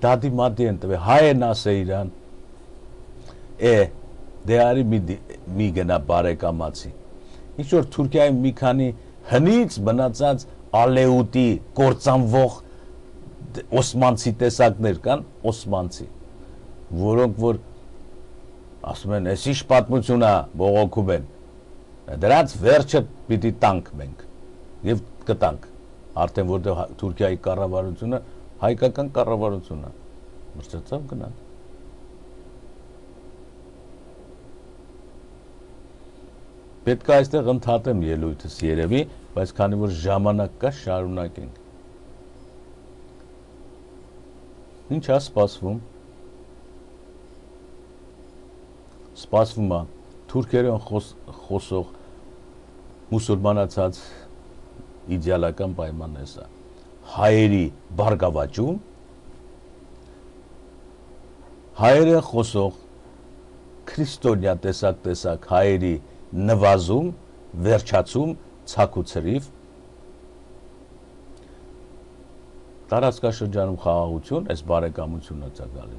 դադի մատի են տվել, հայ են ասե իրան, դե արի մի գնա բարեկամացի, ինչ որ Թուրքիայում մի քանի հնից բնացած ալեուտի կործանվող օսմանցի տեսակներ կան, օսմանցի, որոնք որ ասում են, ես ինչ պատմություն է բողոքում են, դրանց վերջը պիտի տանք մենք և կտանք, արդեն որտեղ Թուրքիայի կառավարությունը հայկական կառավարություն է, մրցեցավ գնանք։ Պետք է այստեղ ընդհատեմ ելույթս երևի, բայց քանի որ ժամանակ կա, շարունակենք։ Ինչ է սպասվում։ Սպասվում է թուրքերեն խոսող մուսուլմանացած իդեալական պայմանն է սա։ Հայերի բարգավաճում, հայերեն խոսող քրիստոնյա տեսակ հայերի նվազում, վերջացում, ցակուցրիվ, տարածքաշրջանում խաղաղություն, այս բարեկամությունն է ցակալի։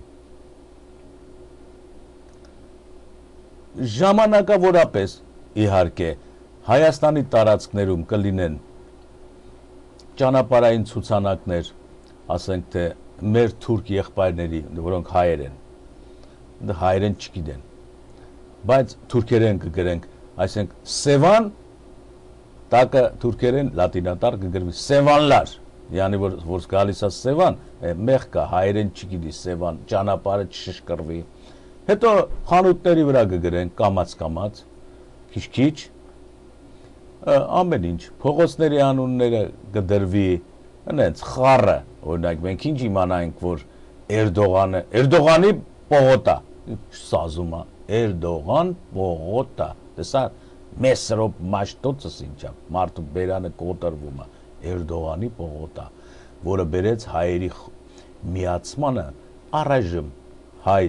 Ժամանակավորապես, իհարկե, Հայաստանի տարածքներում կլինեն ճանապարհային ցուցանակներ, ասենք թե մեր թուրք եղբայրների, որոնք հայեր են, հայերեն չգիտեն, բայց թուրքերեն կգրենք, այսինքն Սևան, տակը թուրքերեն լատինատար կգրվի Սևանլար, yani որ գալիս է Սևան, մեղք կա, հայերեն չգիտի Սևան, ճանապարհը չշշկրվի, հետո խանութների վրա կգրեն կամաց, քիչ, ամեն ինչ, փողոցների անունները կդրվի, այնց խառը, օրինակ մենք ինչ իմանանք, որ Էրդողանի պողոտա, սազում է, Էրդողան պողոտա, տեսա մեսրոպ մաշտոցս ինչա, մարդու բերանը կոտրվում է, Էրդողանի պողոտա, որը բերեց հայերի միացմանը առայժմ հայ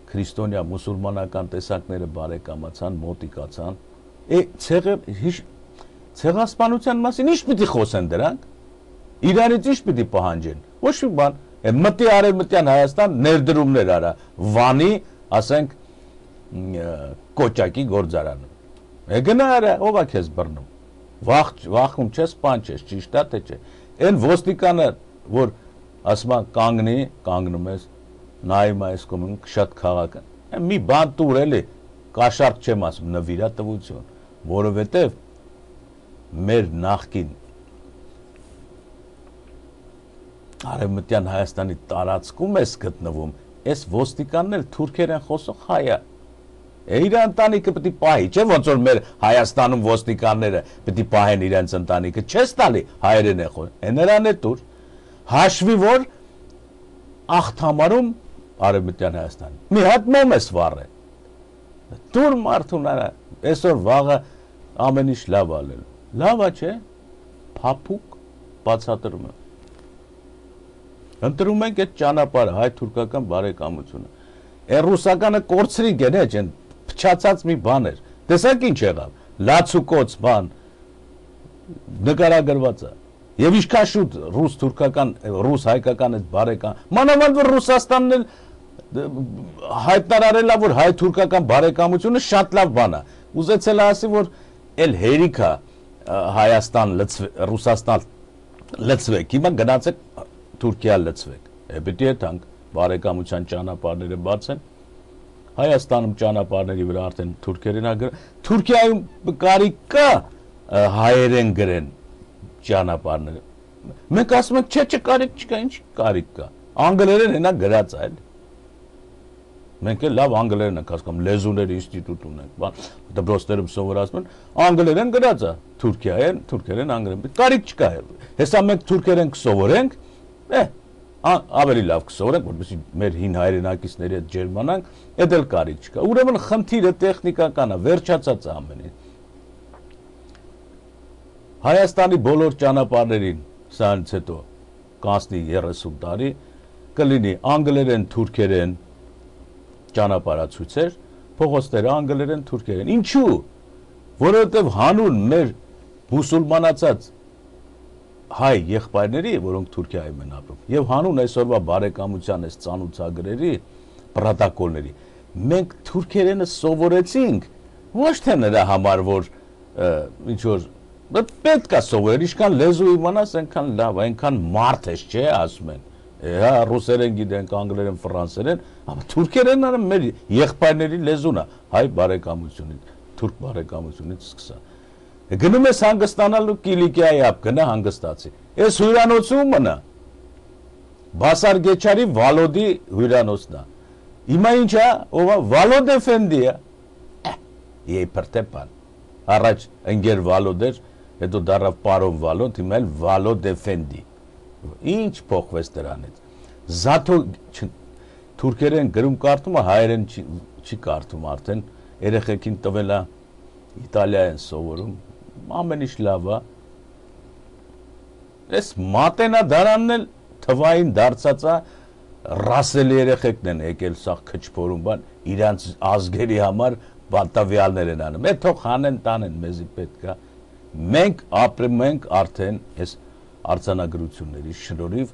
քրիստոնյա մուսուլմանական տեսակները բարեկամացան, մոտիկացան, ցեղասպանության մասին ինչ պիտի խոսեն դրանք, իրանից ինչ պիտի պահանջեն, ոչ մի բան, մտի արևմտյան Հայաստան ներդրումներ արա, Վանի, ասենք, կոճակի գործարանում, գնա արա, ով է քեզ բռնում, վախում չես, բան չես, ճիշտ է թե չէ, այն ոստիկանը, որ ասում է կանգնում ես, նայում այս կոմուն շատ քաղաք է, մի բան տուր էլի, կաշարք չեմ ասում, նվիրատվություն, որովհետև մեր նախկին արևմտյան Հայաստանի տարածքում ես գտնվում, այս ոստիկանն էլ թուրքերեն խոսող հայ է, իր ընտանիքը պետք է պահի, չէ ոնց որ մեր Հայաստանում ոստիկանները պետք է պահեն իրենց ընտանիքը, չես տալի հայերեն է խոսում, նրան է տուր, հաշվի որ աղթամարում արևմտյան Հայաստանի, մի հատ մոմ ես վառը, տուր մարդուն արա, այսօր վաղը ամեն ինչ լավ ալել, լավ է չէ, փափուկ բացատրում է, ընտրում ենք այդ ճանապարհը, հայ-թուրքական բարեկամությունը, ռուսականը կորցրիկ են, այն փչացած մի բան էր, տեսակ ինչ եղավ, լացուկոց բան, նկարագրված է, եւ ինչքան շուտ ռուս-թուրքական, ռուս-հայկական այդ բարեկամ, մանավանդ որ Ռուսաստանն էլ հայտարարել է, որ հայ-թուրքական բարեկամությունը շատ լավ բան է, ուզեցել է ասի, որ էլ հերիքա Հայաստան, Ռուսաստան լծվեք, հիմա գնացեք Թուրքիա լծվեք, պետք է տանք բարեկամության ճանապարհները բացեն, Հայաստանում ճանապարհների վրա արդեն թուրքերեն ագր Թուրքիայում կարիք կա հայերեն գրեն ճանապարհները մենք ասում ենք չէ կարիք չկա ինչ կարիք կա անգլերեն հենա գրած այլ մենք էլ լավ անգլերեն ենք հասկանում լեզուների ինստիտուտ ունենք բան դպրոցներում սովորացնում են անգլերեն գրած է թուրքերեն անգլերեն կարիք չկա հեսա մենք թուրքերեն կսովորենք ավելի լավ կսովորենք որպեսզի մեր հին հայրենակիցների հետ ջերմանանք այդ էլ կարիք չկա ուրեմն խնդիրը տեխնիկական է վերջացած է ամեն ինչ Հայաստանի բոլոր ճանապարհներին սրանից հետո կանցնի 30 տարի կլինի անգլերեն թուրքերեն ճանապարհացույցեր փողոցները անգլերեն թուրքերեն ինչու որովհետև հանուն մեր մուսուլմանացած հայ եղբայրների որոնք Թուրքիայում են ապրում եւ հանուն այսօրվա բարեկամության այս ծանուցագրերի պրոտոկոլների մենք թուրքերենը սովորեցինք ոչ թե նրա համար որ ինչ որ պետք է սովորել ինչքան լեզու իմանաս այնքան լավ այնքան մարդ ես չէ ասում են հա ռուսերեն գիտենք անգլերեն ֆրանսերեն amma թուրքերենը մեր եղբայրների լեզուն է հայ բարեկամությունից թուրք բարեկամությունից սկսա գնում ես հանգստանալու Կիլիկիայի ապ գնա հանգստացի այս հյուրանոցում մնա Բասար Գեչարի Վալոդի հյուրանոցն է հիմա ինչ է ով Վալոդ Էֆենդի է իբրտեպան առաջ ընկեր Վալոդ էր հետո դարավ պարոն Վալոդ հիմա էլ Վալոդ Էֆենդի ինչ փոխվեց դրանից զաթո թուրքերեն գրում կարդում է հայերեն չի կարդում արդեն երեխեքին տվել է իտալիայեն սովորում ամեն ինչ լավ է այս մատենադարանն էլ թվային դարձած է ռասելի երեխեքն են եկել սա քչփորում բան իրանց ազգերի համար բանտավյալներ են անում թող հանեն տանեն մեզի պետք է մենք ապրում ենք արդեն այս արձանագրությունների շնորհիվ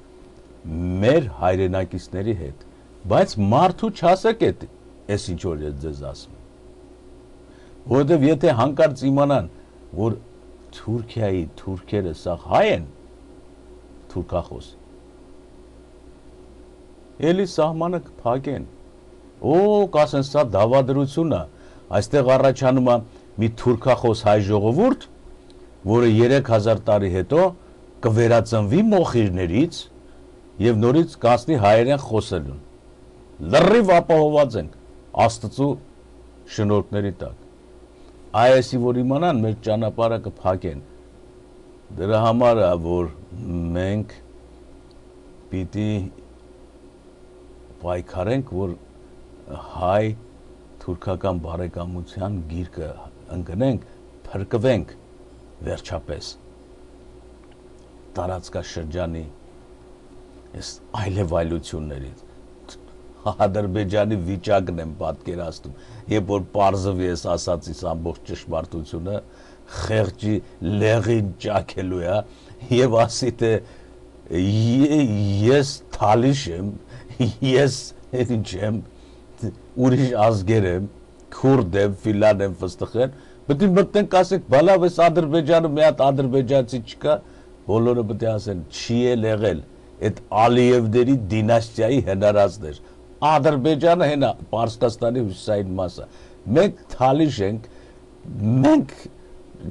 մեր հայրենակիցների հետ բայց մարդու չասեք այս ինչ որ ես ձեզ ասում որովհետև եթե հանկարծ իմանան որ Թուրքիայի թուրքերը սա հայ են թուրքախոս էլի սահմանը կփակեն կասեն սա դավադրություն է այստեղ առաջանում է մի թուրքախոս հայ ժողովուրդ որը 3000 տարի հետո կվերածնվի մոխիրներից եւ նորից կասնի հայերեն խոսելուն լրիվ ապահոված ենք Աստծո շնորհքների տակ այսի որ իմանան մեր ճանապարհը կփակեն դրա համար է որ մենք պիտի պայքարենք որ հայ թուրքական բարեկամության գիրկը ընկնենք փրկվենք վերջապես տարածքաշրջանի այս այլևայլություններից Ադրբեջանի վիճակն եմ պատկերացնում երբ որ պարզվի ես ասածից ամբողջ ճշմարտությունը խեղճի լեղին ճաքելու է եւ ասի թե ես թալիշ եմ ես ինչ եմ ուրիշ ազգեր եմ քուրդ եմ ֆիլան եմ ֆստխեն պետք է մտնենք ասենք բալավ էս Ադրբեջանը մի հատ ադրբեջանցի չկա բոլորը պետք է ասեն չի եղել այդ Ալիևների դինաստիայի հնարածներ Ադրբեջանը հենա Պարսկաստանի հյուսիսային մասը մենք թալիշ ենք մենք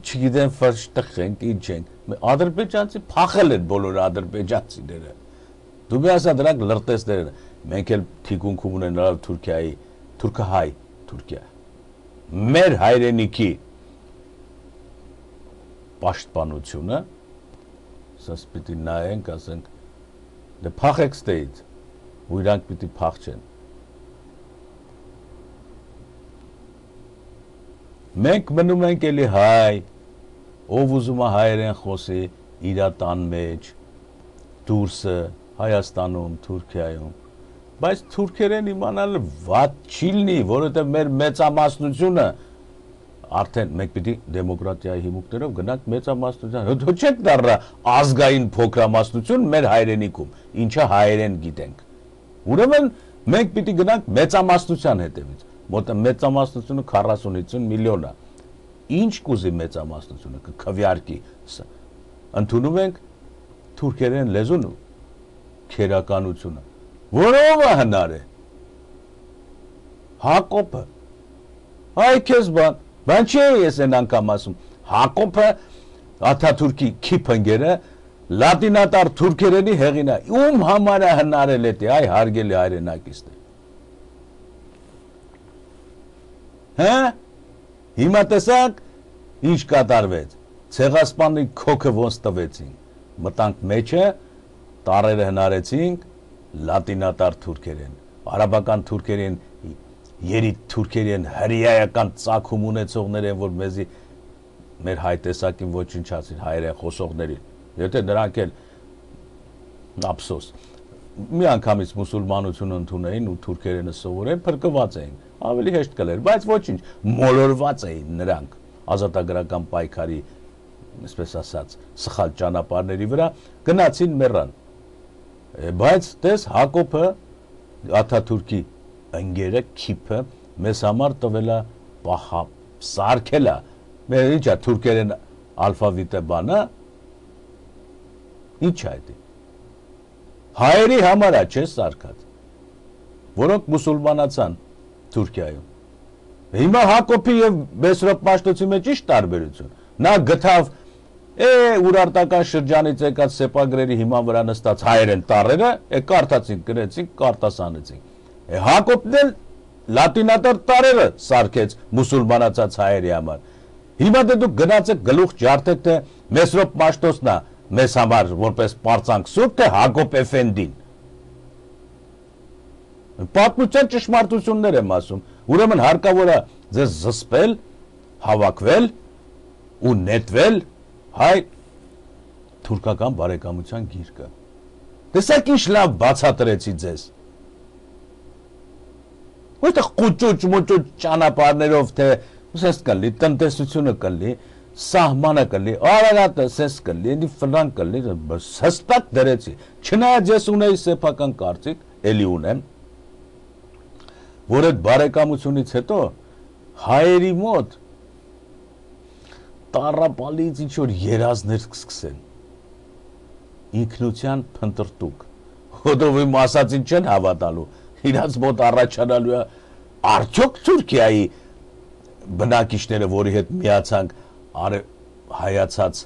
չգիտեմ ֆշտխ ենք ինչ ենք ադրբեջանցի փախել են բոլոր ադրբեջանցիները դու մի ասա դրանք լրտեսներ են մենք էլ թիկունքում ունենալ Թուրքիայի թուրքահայ Թուրքիա մեր հայրենիքի պաշտպանությունը սա պիտի նայենք ասենք դե փախեք ստեից ու իրանք պիտի փախչեն մենք մնում ենք էլի հայ ով ուզում է հայերեն խոսի իր տան մեջ դուրսը Հայաստանում Թուրքիայում բայց թուրքերեն իմանալը վատ չի լինի որովհետև մեր մեծամասնությունը արդեն մենք պիտի դեմոկրատիայի հիմունքներով գնանք մեծամասնության հետո չենք դառնա ազգային փոքրամասնություն մեր հայրենիքում ինչը հայերեն գիտենք ուրեմն մենք պիտի գնանք մեծամասնության հետևից մոտ մեծամասնությունը 40-50 միլիոն է ինչ կուզի մեծամասնությունը կքվյարկի ընդունում ենք թուրքերեն լեզուն քերականությունը որով է հնար է Հակոբը։ Այ քեզ բան չի ես այն անգամ ասում։ Հակոբը Աթաթուրքի քիփընկերը լատինատար թուրքերենի հեղինակ։ Ում համար է հնարել է, այ հարգելի հայրենակիցներ։ Հա? Հիմա տեսակ ինչ կատարվեց։ Ցեղասպանի քոքը ոնց տվեցին։ Մտանք մեջը, տարերը հնարեցինք լատինատար թուրքերեն, արաբական թուրքերեն, երիտ թուրքերեն, հրեայական ծագում ունեցողներ են, որ մեզի մեր հայ տեսակին ոչնչացին, հայերեն խոսողներին։ Եթե նրանք էլ ափսոս մի անգամից մուսուլմանությունը ընդունեին ու թուրքերենը սովորեն, փրկված էին, ավելի հեշտ կլեր, բայց ոչինչ, մոլորված էին նրանք ազատագրական պայքարի, այսպես ասած, սխալ ճանապարհների վրա, գնացին մեռան։ Բայց տես Հակոբը Աթաթուրքի ընկերը քիփը մեզ համար տվելա պահա սարքելա։ Մեր ինչա թուրքերեն ալֆավիտը բանա։ Ինչ է դա։ Հայերի համար է չէ սարքած, որոնք մուսուլմանացան Թուրքիայում։ Հիմա Հակոբի եւ Մեսրոպ Պաշտոցի մեջ ի՞նչ տարբերություն։ Նա գտավ ուրարտական շրջանից եկած սեպագրերի հիման վրա նստած հայերեն տառերը, կարդացին, գրեցին, կարտասանեցին։ Հակոբն էլ լատինատար տառերը սարքեց մուսուլմանացած հայերի համար։ Հիմա դուք գնացեք գլուխ ջարդեք, թե Մեսրոպ Պաշտոցն է մեզ համար որպես պարծանք սուրբ, թե Հակոբ Էֆենդին։ Պատմության ճշմարտություններ եմ ասում, ուրեմն հարկավոր է ձեզ զսպել, հավաքվել ու նետվել հայ թուրքական բարեկամության գիրկը։ Տեսեք ինչ լավ բացատրեցի ձեզ։ Որտեղ կուճուճ ճանապարհներով, թե ուսես կլի, տնտեսությունը կլի, սահմանը կլի, արարատը սես կլի, ինի ֆլան կլի, հստակ դրեցի։ Չնայած ես ունեի սեփական կարծիք, էլի ունեմ, որ այդ բարեկամությունից հետո հայերի մոտ տառապալից ինչ որ երազներ կսկսեն, ինքնության փնտրտուք, հոդով իմ ասածին չեն հավատալու, իրաց մոտ առաջանալու է արդյոք Թուրքիայի բնակիչները, որի հետ միացանք հայացած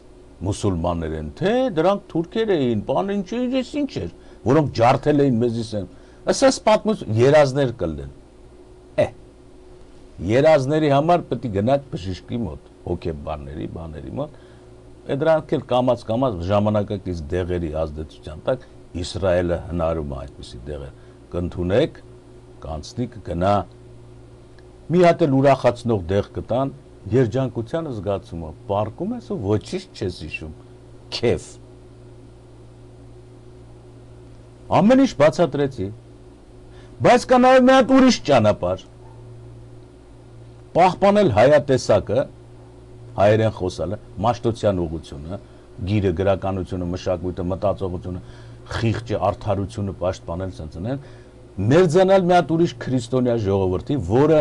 մուսուլմաններ են, թե դրանք թուրքեր էին, բան ինչ էր, որոնք ջարդել էին մեզիս են, ասես պատմություն, երազներ կլեն, երազների համար պետք է գնաք բժշկի մոտ, հոգեբանների մոտ, դրանք էլ կամաց ժամանակակից դեղերի ազդեցության տակ Իսրայելը հնարում է այդպիսի դեղեր կընդունեք, կանցնի կգնա, մի հատ էլ ուրախացնող դեղ կտան, երջանկության զգացումը, պարկում ես ու ոչինչ չես հիշում, քեֆ։ Ամեն ինչ բացատրեցի, բայց կա նաև մի հատ ուրիշ ճանապարհ, պահպանել հայատեսակը, հայերեն խոսալը, մաշտոցյան ուղղությունը, գիրը, գրականությունը, մշակույթը, մտածողությունը, խիղճը, արդարությունը պաշտպանել, ցնցնել, մերձանալ մի հատ ուրիշ քրիստոնյա ժողովրդի, որը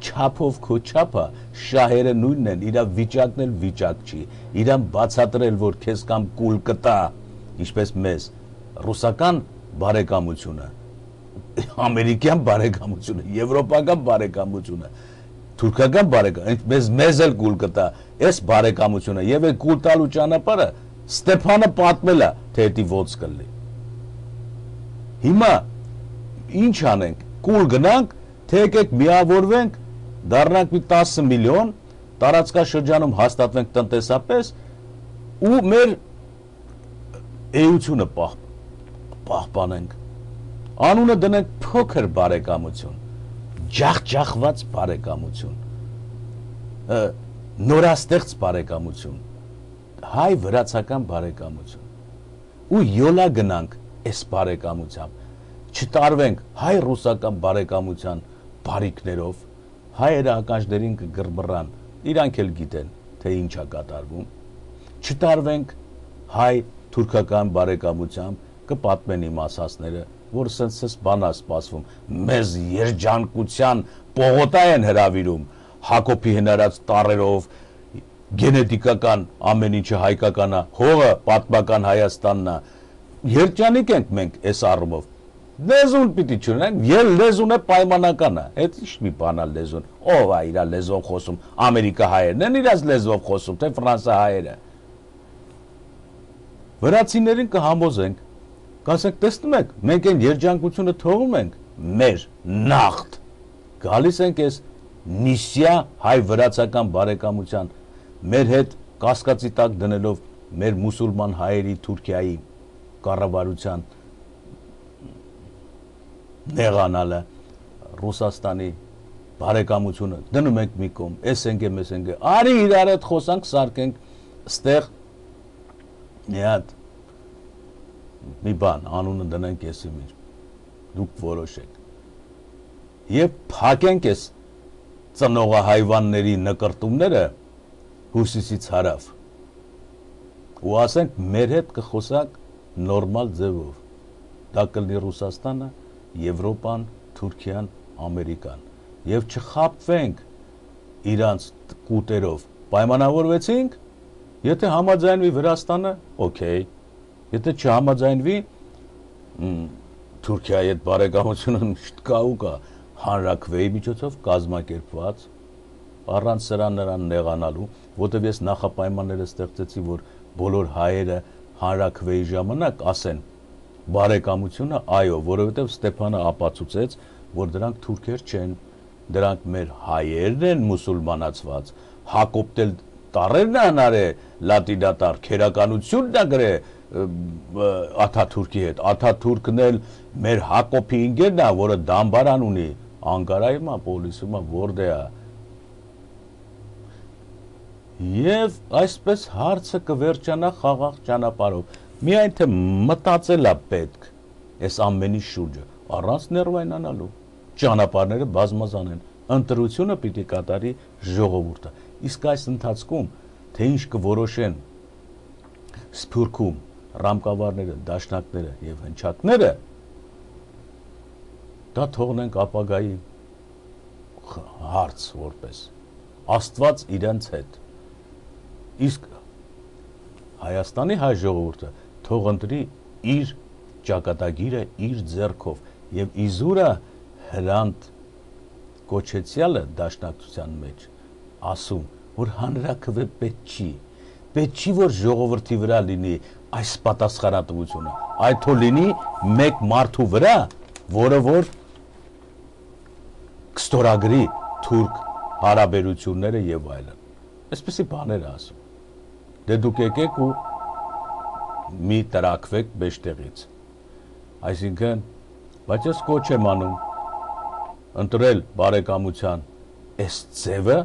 չափով քո չափը շահերը նույնն են, իր վիճակն էլ վիճակ չի, իրան բացատրել, որ քեզ կամ կուլ կտա, ինչպես մեզ, ռուսական բարեկամությունը, ամերիկյան բարեկամությունը, եվրոպական բարեկամությունը, թուրքական բարեկամությունը, մեզ էլ կուլ կտա, այս բարեկամությունը եւ այդ կուլ տալու ճանապարհը Ստեփանը պատմել է, թե դա ոնց կլինի։ Հիմա ինչ անենք, կուլ գնանք, թե եկեք միավորվենք, դառնանք մի 10 միլիոն, տարածքաշրջանում հաստատվենք տնտեսապես ու մեր էությունը պահպանենք։ Անունը դնենք փոքր բարեկամություն, ջախջախված բարեկամություն, նորաստեղծ բարեկամություն, հայ վրացական բարեկամություն ու յոլա գնանք այս բարեկամությամբ, չտարվենք հայ ռուսական բարեկամության բարիքներով, հայերը ականջներին կգրբռան, իրանք էլ գիտեն, թե ինչ է կատարվում, չտարվենք հայ թուրքական բարեկամությամբ, կպատմեն իմ ասածները, որ սենց բան է սպասվում, մեզ երջանկության պողոտա են հրավիրում, Հակոբի հնարած տառերով, գենետիկական ամեն ինչը հայկական է, հողը պատմական Հայաստանն է, երջանիկ ենք մենք այս առումով, Լեզուն պիտի չունեն, եւ լեզուն է պայմանական է։ Այդ ի՞նչ մի բան է լեզուն։ Ով է իր լեզվով խոսում։ Ամերիկա հայերն են իրաց լեզվով խոսում, թե Ֆրանսա հայերը։ Վրացիներին կհամոզենք, կասենք, տեսնում եք, մենք այն երջանկությունը թողում ենք, մեր նախտ։ Գալիս ենք այս նիսյա հայ-վրացական բարեկամության, մեր հետ կասկածի տակ դնելով մեր մուսուլման հայերի Թուրքիայի կառավարության նեղանալը, Ռուսաստանի բարեկամությունը դնում ենք մի կողմ, էս ենք, արի իրար հետ խոսանք, սարքենք ստեղ մի հատ մի բան, անունը դնենք եսի մեր, դուք որոշեք և փակենք ես ծնողահայվանների նկրտումները հուսիսից հարավ ու ասենք մեր հետ կխոսակ նորմալ ձևով, դա կլինի Ռուսաստանը, Եվրոպան, Թուրքիան, Ամերիկան և չխապվենք իրանց կուտերով, պայմանավորվեցինք, եթե համաձայնվի Վրաստանը, օքեյ, եթե չհամաձայնվի Թուրքիայի հետ բարեկամությունը միշտ կա ու կա, հանրաքվեի միջոցով կազմակերպված, առանց սրան նրան նեղանալու, որտև ես նախապայմանները ստեղծեցի, որ բոլոր հայերը հանրաքվեի ժամանակ ասեն բարեկամությունը, այո, որովհետև Ստեփանը ապացուցեց, որ դրանք թուրքեր չեն, դրանք մեր հայերն են մուսուլմանացված, Հակոբտել տարերն անար է լատինատար, քերականությունն է գրե Աթաթուրքի հետ, Աթաթուրքն էլ մեր Հակոբի ինգերն է, որը դամբարան ունի, Անկարայում է, Պոլիսում է, որտե է։ Եվ այսպես հարցը կվերջանա խաղաղ ճանապարհով։ Միայն թե մտածել է պետք այս ամենի շուրջը, առանց ներվայնանալու։ Ճանապարհները բազմազան են, ընտրությունը պիտի կատարի ժողովուրդը։ Իսկ այս ընթացքում, թե ինչ կորոշեն Սփյուռքում ռամկավարները, դաշնակները եւ հնչակները, դա թողնենք ապագայի հարց որպես Աստված իրենց հետ։ Իսկ Հայաստանի հայ ժողովուրդը թող ընտրի իր ճակատագիրը իր ձեռքով եւ իզուրը հրանտ կոչեցյալը դաշնակցության մեջ ասում, որ հանրաքվե պետք չի, որ ժողովրդի վրա լինի այս պատասխանատվությունը, այդ թող լինի մեկ մարդու վրա, որը որ կստորագրի թուրք հարաբերությունները եւ այլն։ Այսպեսի բաներ ասում։ Դե դուք եկեք ու մի տրակվեք մեջտեղից։ Այսինքն, բայց ես կոչ եմ անում ընտրել բարեկամության այս ձևը,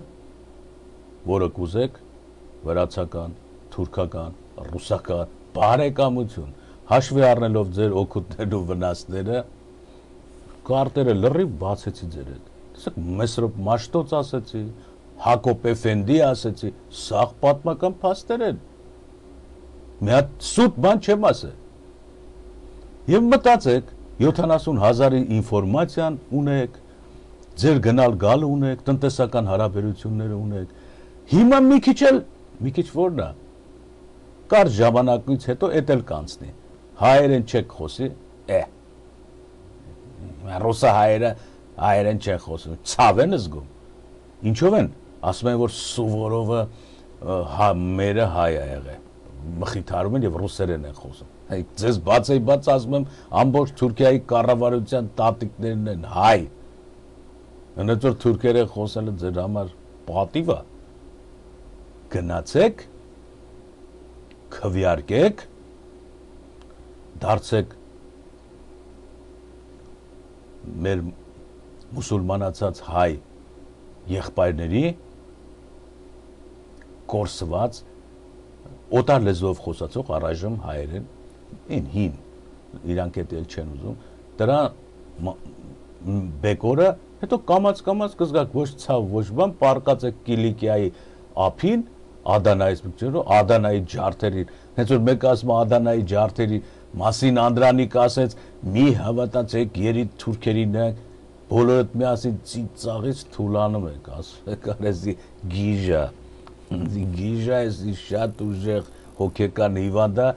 որը կուզեք վրացական, թուրքական, ռուսական բարեկամություն, հաշվի առնելով ձեր օգուտներն ու վնասները, կարտերը լրիվ բացեցի ձեր հետ։ Տեսեք, Մեսրոպ Մաշտոց ասեցի, Հակոբ Էֆենդի ասեցի, սաղ պատմական փաստեր են։ Մի հատ սուտ բան չեմ ասել։ Եվ մտածեք, 70,000-ի ինֆորմացիան ունեք, ձեր գնալ գալը ունեք, տնտեսական հարաբերությունները ունեք։ Հիմա մի քիչ որն է, կարճ ժամանակից հետո էդ էլ կանցնի, հայերեն չեք խոսի, ռուսա հայերեն չեն խոսում, ցավ են զգում, ինչով են, ասում են, որ Սուվորովը մերը հայ է եղել, մխիթարում են և ռուսերեն են խոսում, ձեզ բաց ասում եմ, ամբողջ Թուրքիայի կառավարության տատիկներն են հայ, հնդ որ թուրքերեն խոսելը ձեր համար պատիվ է, գնացեք, քվեարկեք, դարձեք մեր մուսուլմանացած հայ եղբայրների կորսված օտար լեզվով խոսացող առայժմ հայերեն հին իրանք էլ չեն ուզում դրա բեկորը հետո կամաց կզգաք ոչ ցավ ոչ բան պարկած է Կիլիկիայի ափին Ադանայից Ադանայի ջարդերին, հենց որ մեկ ասում Ադանայի ջարդերի մասին Անդրանիկ ասեց, մի հավատացեք երիտ թուրքերին ենք, բոլորդ միասին ծիծաղից թուլանում եք, ասում եք արեզի գիժա էսի շատ ուժեղ հոգեկան հիվանդա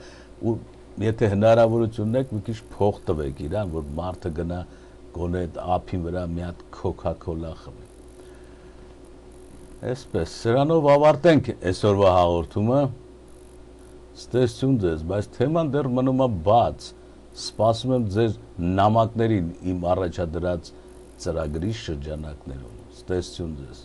ու եթե հնարավորություն ունեք, մի քիչ փող տվեք իրան, որ մարդը գնա գոնե այդ ափի վրա մի հատ Coca-Cola խմի։ Այսպես, սրանով ավարտենք այսօրվա հաղորդումը։ Ստեսություն ձեզ, բայց թեման դեռ մնում է բաց։ Սպասում եմ ձեր նամակներին իմ առաջադրած ծրագրի շրջանակներում։ Ստեսություն ձեզ։